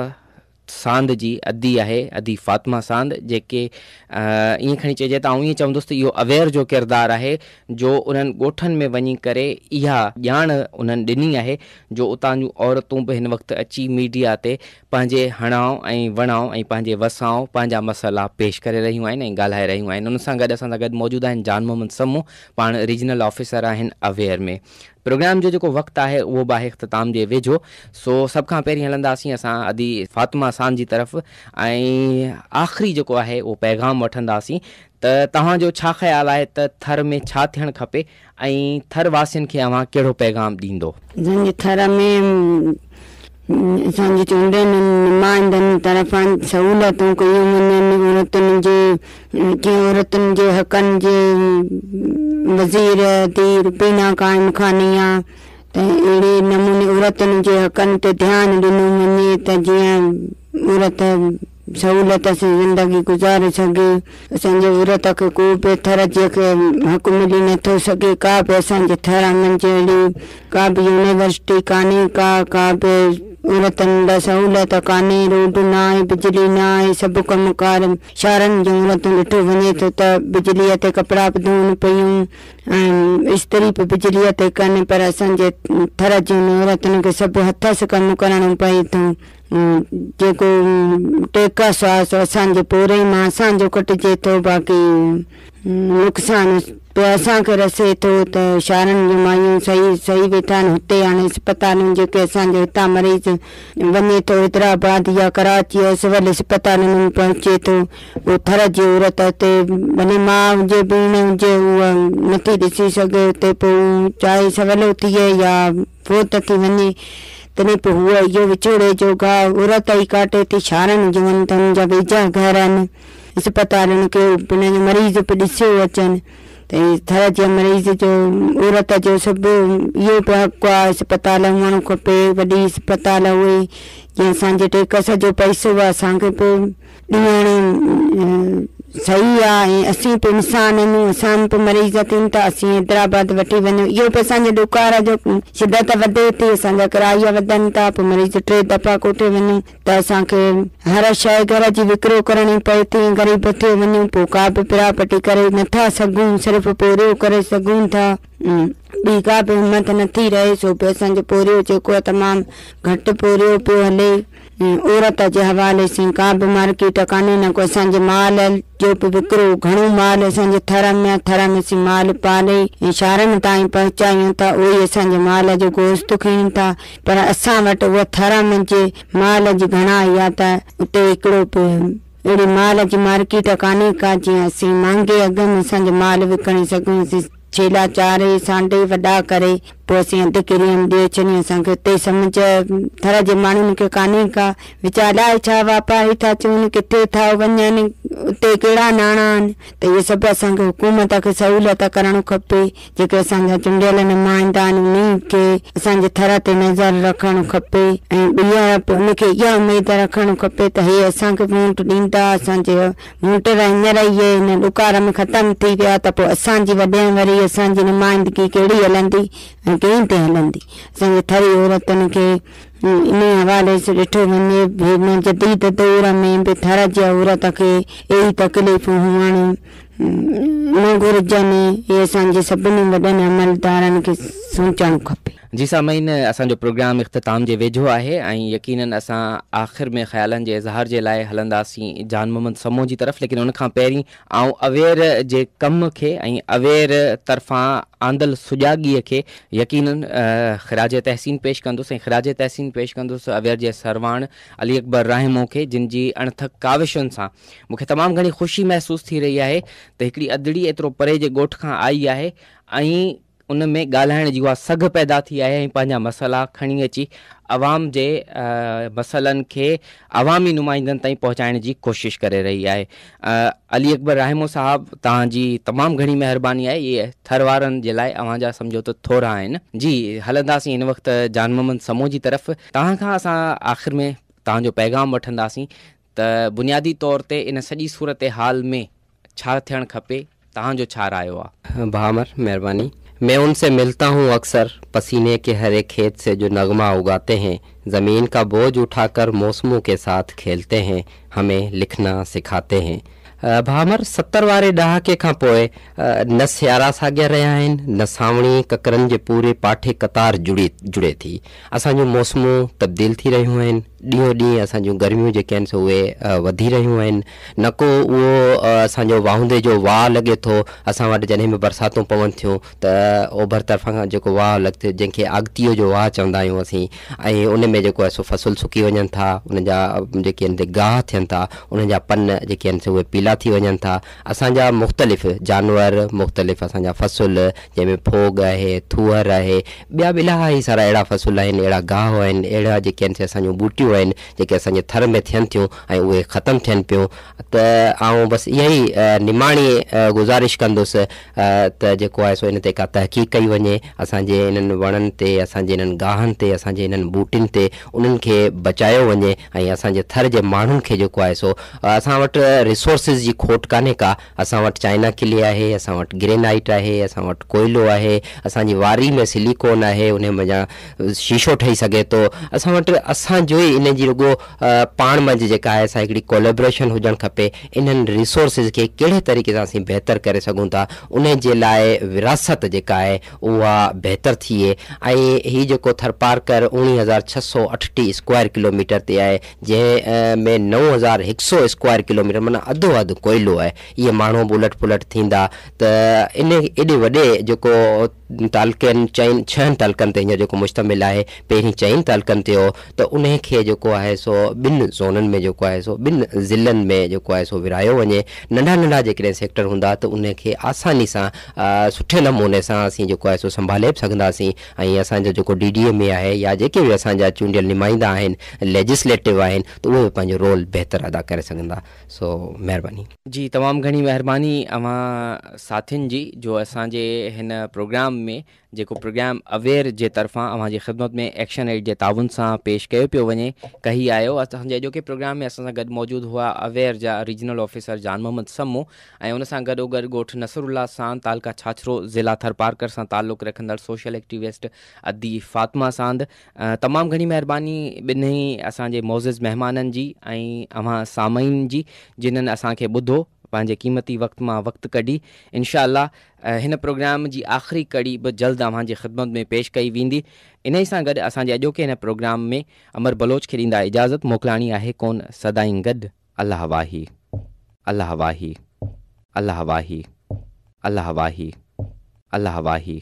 सांद जी अदी आहे, अदी फातिमा सांद, जेके ईअं खणी चइजे त आउं ईअं चवंदुसि त इहो अवेयर जो किरदारु आहे जो उन्हनि ॻोठनि में वञी करे इहा ॼाण उन्हनि ॾिनी आहे जो उतां जूं औरतूं बि हिन वक़्तु अची मीडिया ते पंहिंजे हणाव ऐं वणाव ऐं पंहिंजे वसाव पंहिंजा मसइला पेश करे रहियूं आहिनि ऐं ॻाल्हाए रहियूं आहिनि। उन सां गॾु असां सां गॾु मौजूदु आहिनि जान मोहम्मद सम्मू, पाण रीजनल ऑफिसर आहिनि अवेयर में। प्रोग्राम जो जेको वक़्तु आहे उहो बि आहे इख़्तिताम जे वेझो, सो सभ खां पहिरीं हलंदासीं असां अदी फातिमा सांद जी तरफ़ ऐं आख़िरी जेको आहे उहो पैगाम वठंदासीं त तव्हांजो छा ख़्यालु आहे त थर में छा थियणु खपे ऐं थर वासियुनि खे अव्हां कहिड़ो पैगाम ॾींदो? असांजे थर में असांजे चूंडियल नुमाइंदनि तरफ़ां सहूलियतूं कयूं वञनि, औरतुनि जे कीअं औरतुनि जे हक़नि जे वज़ीर दी रुबीना क़ाइम ख़ानी आहे त अहिड़े नमूने औरतुनि जे हक़नि ते ध्यानु ॾिनो वञे त जीअं औरत सहूलियत सां ज़िंदगी गुज़ारे सघे। असांजे औरत खे को बि थर जे खे हक़ मिली नथो सघे, का बि असांजे थर मंझि अहिड़ी का बि यूनिवर्सिटी कान्हे का का बि औरतुनि लाइ सहूलियत कान्हे, रोड न आहे, बिजली न आहे, सभु कमु कार शहरनि जूं औरतूं ॾिठो वञे थो त बिजलीअ ते कपिड़ा बि धोअनि पयूं ऐं इस्त्री बि बिजलीअ ते कनि, पर असांजे थर जूं औरतुनि खे सभु हथ सां कमु करणो पए थो। जेको टेकस आहे सो असांजे पूरे मां असांजो कटिजे थो, बाक़ी नुक़सानु पोइ असांखे रसे थो त शहरनि जूं मायूं सही सही वेठा आहिनि हुते। हाणे अस्पतालुनि जेके असांजे हितां मरीज़ वञे थो हैदराबाद या कराची या सिविल अस्पतालुनि में पहुचे थो, उहो थर जी औरत हुते भले माउ हुजे भेण हुजे उहा नथी ॾिसी सघे हुते, पोइ चाहे सवलो थिए या फोत थी वञे तॾहिं पोइ हूअ इहो विछोड़े जो घाव औरत ई काटे थी। शहरनि जूं वञनि त हुनजा वेझा घर आहिनि अस्पतालुनि खे हुनजो मरीज़ बि ॾिसियो अचनि त थर जे मरीज़ जो औरत जो सभु इहो बि हक़ आहे अस्पताल हुअणु खपे, वॾी अस्पताल हुए जीअं असांजे टेकस जो पैसो आहे असांखे बि ॾियणु सही आहे ऐं असीं बि इंसान आहियूं, असां बि मरीज़ थियूं था, असीं हैदराबाद वठी वञूं, इहो बि असांजे ॾुकार जो शिदत वधे थी, असांजा किराया वधनि था, पोइ मरीज़ टे दफ़ा कोठे वञूं त असांखे हर शइ घर जी विकिरो करणी पए थी, ग़रीब थी वञूं पोइ का बि प्रॉपर्टी करे नथा सघूं, सिर्फ़ु पोरियो करे सघूं था, ॿी का बि हिमत नथी रहे। सो बि असांजो पोरियो जेको आहे तमामु घटि पोरियो पियो हले। औरत जे हवाले सां का बि मार्केट कान्हे न को असांजे माल जो बि विकिरो घणो माल असांजे थर में थर में असीं माल पाले ऐं शहरनि ताईं पहुचायूं था, उहो ई असांजे माल जो गोश्त खणनि था, पर असां वटि उहा थर में जे माल जी घणाई आहे त उते हिकिड़ो बि अहिड़ी माल जी मार्केट कान्हे का जीअं असीं महांगे अघ में असांजो माल विकिणी सघूं। असीं छेला चारे सांडे वॾा करे पोइ असीं अधु किरीअ में ॾिए छॾियूं, असांखे हुते सम्झ थर जे माण्हुनि खे कान्हे का वीचार अलाए छा वापारी था चवनि, किथे था वञनि, उते कहिड़ा नाणा आहिनि, त इहे सभु असांखे हुकूमत खे सहूलियत करणु खपे। जेके असांजा चूंडियल नुमाइंदा आहिनि उन्हनि खे असांजे थर ते नज़र रखणु खपे ऐं ॿीहर उनखे इहा उमेद रखणु खपे त हे असांखे वोट ॾींदा, असांजे वोटर हींअर ई हिन ॾुकार में ख़तमु थी विया त पोइ असांजी वॾे वरी असांजी नुमाइंदगी कहिड़ी हलंदी ऐं कंहिं ते हलंदी। असांजे थरी औरतुनि खे इन हवाले सां ॾिठो वञे हिन जदीद दौर में बि थर जी औरत खे अहिड़ी तकलीफ़ूं हुअणु न घुर्जनि, इहे असांजे सभिनी वॾनि अमलदारनि खे सोचणु खपे। जी सामीन, असांजो प्रोग्राम इख़्तिताम जे वेझो आहे ऐं यकीनन असां आख़िर में ख़्यालनि जे इज़हार जे लाइ हलंदासीं जान मोहम्मद समो जी तरफ़, लेकिन उन खां पहिरीं आउं अवेयर जे कम खे ऐं अवेयर तरफ़ां आंदल सुजागीअ खे यकीनन ख़िराज तहसीन पेश कंदुसि ऐं ख़िराज तहसीन पेश कंदुसि अवेयर जे सरवाण अली अकबर राहिमो खे, जिन जी अणथक काविशुनि सां मूंखे तमामु घणी ख़ुशी महसूसु थी रही आहे त हिकिड़ी अदड़ी एतिरो परे जे ॻोठ खां आई आहे ऐं उन में ॻाल्हाइण जी उहा सघ पैदा थी आहे ऐं पंहिंजा मसइला खणी अची अवाम जे मसइलनि खे अवामी नुमाइंदनि ताईं पहुचाइण जी कोशिशि करे रही आहे। अली अकबर राहिमो साहब, तव्हांजी तमामु घणी महिरबानी आहे, इहे थर वारनि जे लाइ अव्हां जा सम्झो त थोरा आहिनि। जी हलंदासीं हिन वक़्तु जान मोहम्मद समो जी तरफ़। तव्हां खां असां आख़िर में तव्हांजो पैगाम वठंदासीं त बुनियादी तौर ते इन सॼी सूरत हाल में छा थियणु खपे, तव्हांजो छा रायो आहे? भामर महिरबानी। मैं उनसे मिलता हूँ अक्सर, पसीने के हरे खेत से जो नगमा उगाते हैं, ज़मीन का बोझ उठाकर मौसमों के साथ खेलते हैं, हमें लिखना सिखाते हैं। भामर, सत्तर वारे ॾहाके खां पोइ न सियारा साॻिया रहिया आहिनि, न सावणी ककरनि जे पूरे पाठे कतार जुड़ी जुड़े थी। असांजूं मौसमूं तब्दील थी रहियूं आहिनि, ॾींहों ॾींहुं असांजूं गर्मियूं जेके आहिनि सो उहे वधी रहियूं आहिनि। न को उहो असांजो वाहुंदे जो वाह लॻे थो असां वटि, जॾहिं बि बरसातूं पवनि थियूं त ओभर तरफ़ खां जेको वाह लॻे जंहिंखे आगतीअ जो वाह चवंदा आहियूं असीं, ऐं उन में जेको आहे सो फ़सल सुकी वञनि था, उन जा जेके आहिनि गाह थियनि था, उन्हनि जा पन जेके आहिनि सो उहे पीला थी वञनि था। असांजा मुख़्तलिफ़ जानवर, मुख़्तलिफ़ असांजा फ़सल जंहिंमें फोग आहे, थूअर आहे, ॿिया बि इलाही सारा अहिड़ा फ़सल आहिनि, अहिड़ा गाह आहिनि, अहिड़ा जेके आहिनि असांजूं ॿूटियूं आहिनि जेके असांजे थर में थियनि थियूं ऐं उहे ख़तमु थियनि पियूं। त आउं बसि इहा ई निमाणी गुज़ारिश कंदुसि त जेको आहे सो इन ते का तहक़ीक़ कई वञे, असांजे इन्हनि वणनि ते, असांजे इन्हनि गाहनि ते, असांजे इन्हनि ॿूटियुनि ते उन्हनि खे बचायो वञे ऐं असांजे थर जे माण्हुनि खे जेको आहे सो असां वटि रिसोर्सिस जी खोट कान्हे का। असां वटि चाइना किले आहे, असां वटि ग्रेनाइट आहे, असां वटि कोयलो आहे, असांजी वारी में सिलिकॉन आहे, उन मंझां शीशो ठही सघे थो। असां वटि असांजो ई इन जी रुगो पाण मंझि जेका आहे असां हिकिड़ी कोलेबोरेशन हुजणु खपे, इन्हनि रिसोर्सिस खे कहिड़े तरीक़े सां असीं बहितर करे सघूं था, उन जे लाइ विरासत जेका आहे उहा बहितर थिए। ऐं हीउ जेको थरपारकर उणिवीह हज़ार छह सौ अठटीह स्क्वायर किलोमीटर ते आहे, जंहिं में नौ हज़ार हिकु सौ स्क्वायर किलोमीटर माना अधो अधु कोयलो आहे। इहे माण्हू बि उलट पुलट थींदा त इन एॾे वॾे जेको तालुकनि चइनि छहनि तालुकनि ते हींअर जेको मुश्तमिल आहे, पहिरीं चइनि तालुकनि ते हो, त उन खे जेको आहे सो ॿिनि ज़ोननि में जेको आहे सो ॿिनि ज़िलनि में जेको आहे सो विरायो वञे। नंढा नंढा जेकॾहिं सेक्टर हूंदा त उनखे आसानी सां सुठे नमूने सां असीं जेको आहे सो संभाले बि सघंदासीं। ऐं असांजो जेको डी डी ए में आहे या जेके बि असांजा चूंडियल नुमाइंदा आहिनि, लेजिस्लेटिव आहिनि, त उहे बि पंहिंजो रोल बहितर अदा करे सघंदा। सो महिरबानी। जी तमामु घणी महिरबानी अव्हां साथियुनि जी जो असांजे हिन प्रोग्राम में जेको प्रोग्राम अवेयर जे तरफ़ां अव्हां जी ख़िदमत में एक्शन एड जे ताउन सां पेश कयो पियो वञे कही आयो। असांजे अॼोके प्रोग्राम में असां सां गॾु मौजूदु हुआ अवेयर जा रीजनल ऑफिसर जान मोहम्मद सम्मो ऐं उन सां गॾोगॾु ॻोठ नसरुल्ला सां तालका छाछरो ज़िला थरपारकर सां तालुक़ रखंदड़ सोशल एक्टिविस्ट अदी फ़ातिमा सांद। तमामु घणी महिरबानी ॿिन्ही असांजे मोज़िज़ महिमाननि जी ऐं अव्हां सामईन जी जिन्हनि असांखे ॿुधो पंहिंजे क़ीमती वक़्त मां वक़्तु कढी। इनशा हिन प्रोग्राम जी आख़िरी कड़ी बि जल्द अव्हांजी ख़िदमत में पेश कई वेंदी। इन ई सां गॾु असांजे अॼोके हिन प्रोग्राम में अमर बलोच खे ॾींदा इजाज़त, मोकिलाणी आहे कोन सदाईं गॾु। अलाह वाही, अलाह वाही, अलाह वाही, अलाह वाही, अलाह वाही।